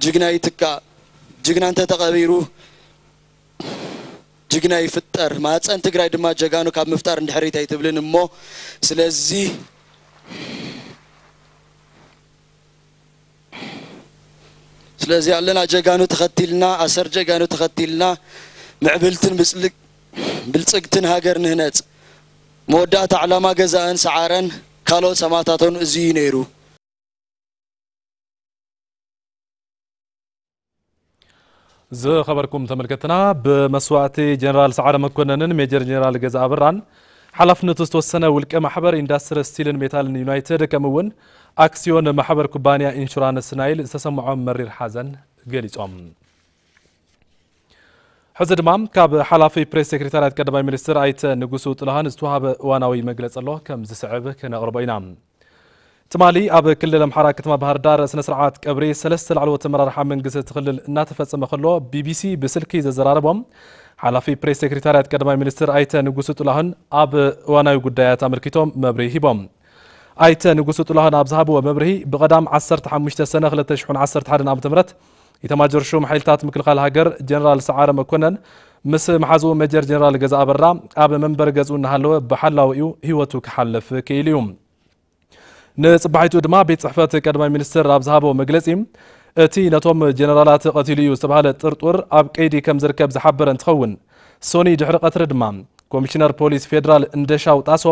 ጅግና ይትካእ። ጅግና እንተተቐቢሩ ጅግና ይፍጠር። ማህፀን ትግራይ ድማ ጀጋኑ ካብ ምፍጣር እንድሕሪት ኣይትብልን እሞ፣ ስለዚ ስለዚ ኣለና ጀጋኑ ተኸቲልና፣ ኣሰር ጀጋኑ ተኸቲልና ምዕብልትን ብጽልግ-፣ ብልጽግትን ሃገር ንህነጽ። መወዳእታ ዕላማ ገዛእን ሰዓረን ካልኦት ሰማእታቶን እዚ እዩ ነይሩ። ዝኸበርኩም ተመልከትና፣ ብመስዋእቲ ጀነራል ሰዓረ መኮነንን ሜጀር ጀነራል ገዛ ኣበራን ሓላፍነቱ ዝተወሰነ ውልቀ ማሕበር ኢንዳስትሪ ስቲልን ሜታልን ዩናይትድ፣ ከምኡ እውን ኣክሲዮን ማሕበር ኩባንያ ኢንሹራንስ ናይል ዝተሰምዖም መሪር ሓዘን ገሊጾም። ሕዚ ድማ ካብ ሓላፊ ፕሬስ ሴክሬታርያት ቀዳማይ ሚኒስትር ኣይተ ንጉሱ ጥላሃን ዝተዋሃበ እዋናዊ መግለጺ ኣሎ፣ ከም ዝስዕብ ክነቕርቦ ኢና። ትማሊ ኣብ ክልል ኣምሓራ ከተማ ባህር ዳር ስነ ስርዓት ቀብሪ ሰለስተ ላዕለዎት ኣመራርሓ መንግስቲ እቲ ክልል እናተፈጸመ ከሎ፣ ቢቢሲ ብስልኪ ዘዘራረቦም ሓላፊ ፕሬስ ሴክሬታርያት ቀዳማይ ሚኒስትር ኣይተ ንጉሱ ጥላሁን ኣብ እዋናዊ ጉዳያት ኣመልኪቶም መብርሂ ሂቦም። ኣይተ ንጉሱ ጥላሁን ኣብ ዝሃብዎ መብርሂ፣ ብቐዳም ዓሰርተ ሓሙሽተ ሰነ ክልተ ሽሕን ዓሰርተ ሓደን ዓመተ ምህረት ኢታማጆር ሹም ሓይልታት ምክልኻል ሃገር ጀነራል ሰዓረ መኮነን ምስ መሓዝኡ ሜጀር ጀነራል ገዛ ኣበራ ኣብ መንበሪ ገዝኡ እናሃለወ ብሓላዊኡ ህይወቱ ክሓልፍ ክኢሉ እዩ። ንጽባሒቱ ድማ ቤት ጽሕፈት ቀዳማይ ሚኒስትር ኣብ ዝሃቦ መግለጺ፣ እቲ ነቶም ጀነራላት ቀቲሉ እዩ ዝተባህለ ጥርጡር ኣብ ቀይዲ ከም ዝርከብ ዝሓበረ እንትኸውን፣ ሶኒ ድሕሪ ቀትሪ ድማ ኮሚሽነር ፖሊስ ፌደራል እንደሻው ጣሶ፣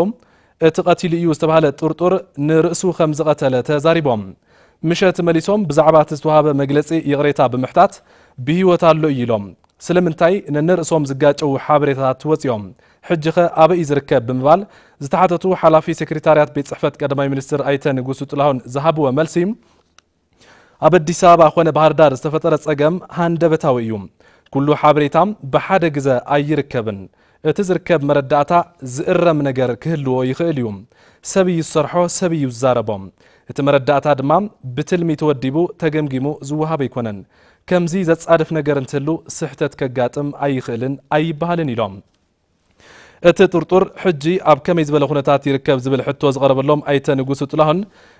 እቲ ቀቲሉ እዩ ዝተባህለ ጥርጡር ንርእሱ ከም ዝቐተለ ተዛሪቦም። ምሸት መሊሶም ብዛዕባ እቲ ዝተዋሃበ መግለጺ ይቕሬታ ብምሕታት፣ ብህይወት ኣሎ እዩ ኢሎም። ስለምንታይ ነንርእሶም ዝጋጨዉ ሓበሬታታት ወጺኦም? ሕጂኸ ኣበይ እዩ ዝርከብ? ብምባል ዝተሓተቱ ሓላፊ ሴክሬታርያት ቤት ጽሕፈት ቀዳማይ ሚኒስትር ኣይተ ንጉሱ ጥላሁን ዝሃብዎ መልሲ፣ ኣብ ኣዲስ ኣበባ ኾነ ባህር ዳር ዝተፈጠረ ጸገም ሃንደበታዊ እዩ። ኩሉ ሓበሬታ ብሓደ ግዘ ኣይርከብን። እቲ ዝርከብ መረዳእታ ዝእረም ነገር ክህልዎ ይኽእል እዩ። ሰብ እዩ ዝሰርሖ፣ ሰብ እዩ ዝዛረቦ። እቲ መረዳእታ ድማ ብትልሚ ተወዲቡ ተገምጊሙ ዝወሃብ ኣይኮነን። ከምዚ ዘጻድፍ ነገር እንትህሉ ስሕተት ከጋጥም ኣይኽእልን ኣይበሃልን ኢሎም። እቲ ጥርጡር ሕጂ ኣብ ከመይ ዝበለ ኩነታት ይርከብ ዝብል ሕቶ ዝቐረበሎም ኣይተ ንጉሱ ጥላሁን፣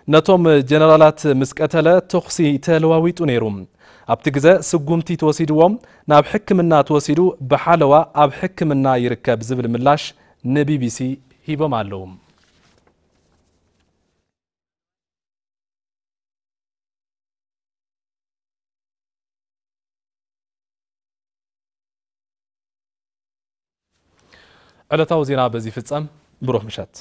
ነቶም ጀነራላት ምስ ቀተለ ተኹሲ ተለዋዊጡ ነይሩ። ኣብቲ ግዘ ስጉምቲ ተወሲድዎ ናብ ሕክምና ተወሲዱ ብሓለዋ ኣብ ሕክምና ይርከብ ዝብል ምላሽ ንቢቢሲ ሂቦም ኣለዉ። ዕለታዊ ዜና በዚ ይፍጸም። ብሩህ ምሸት።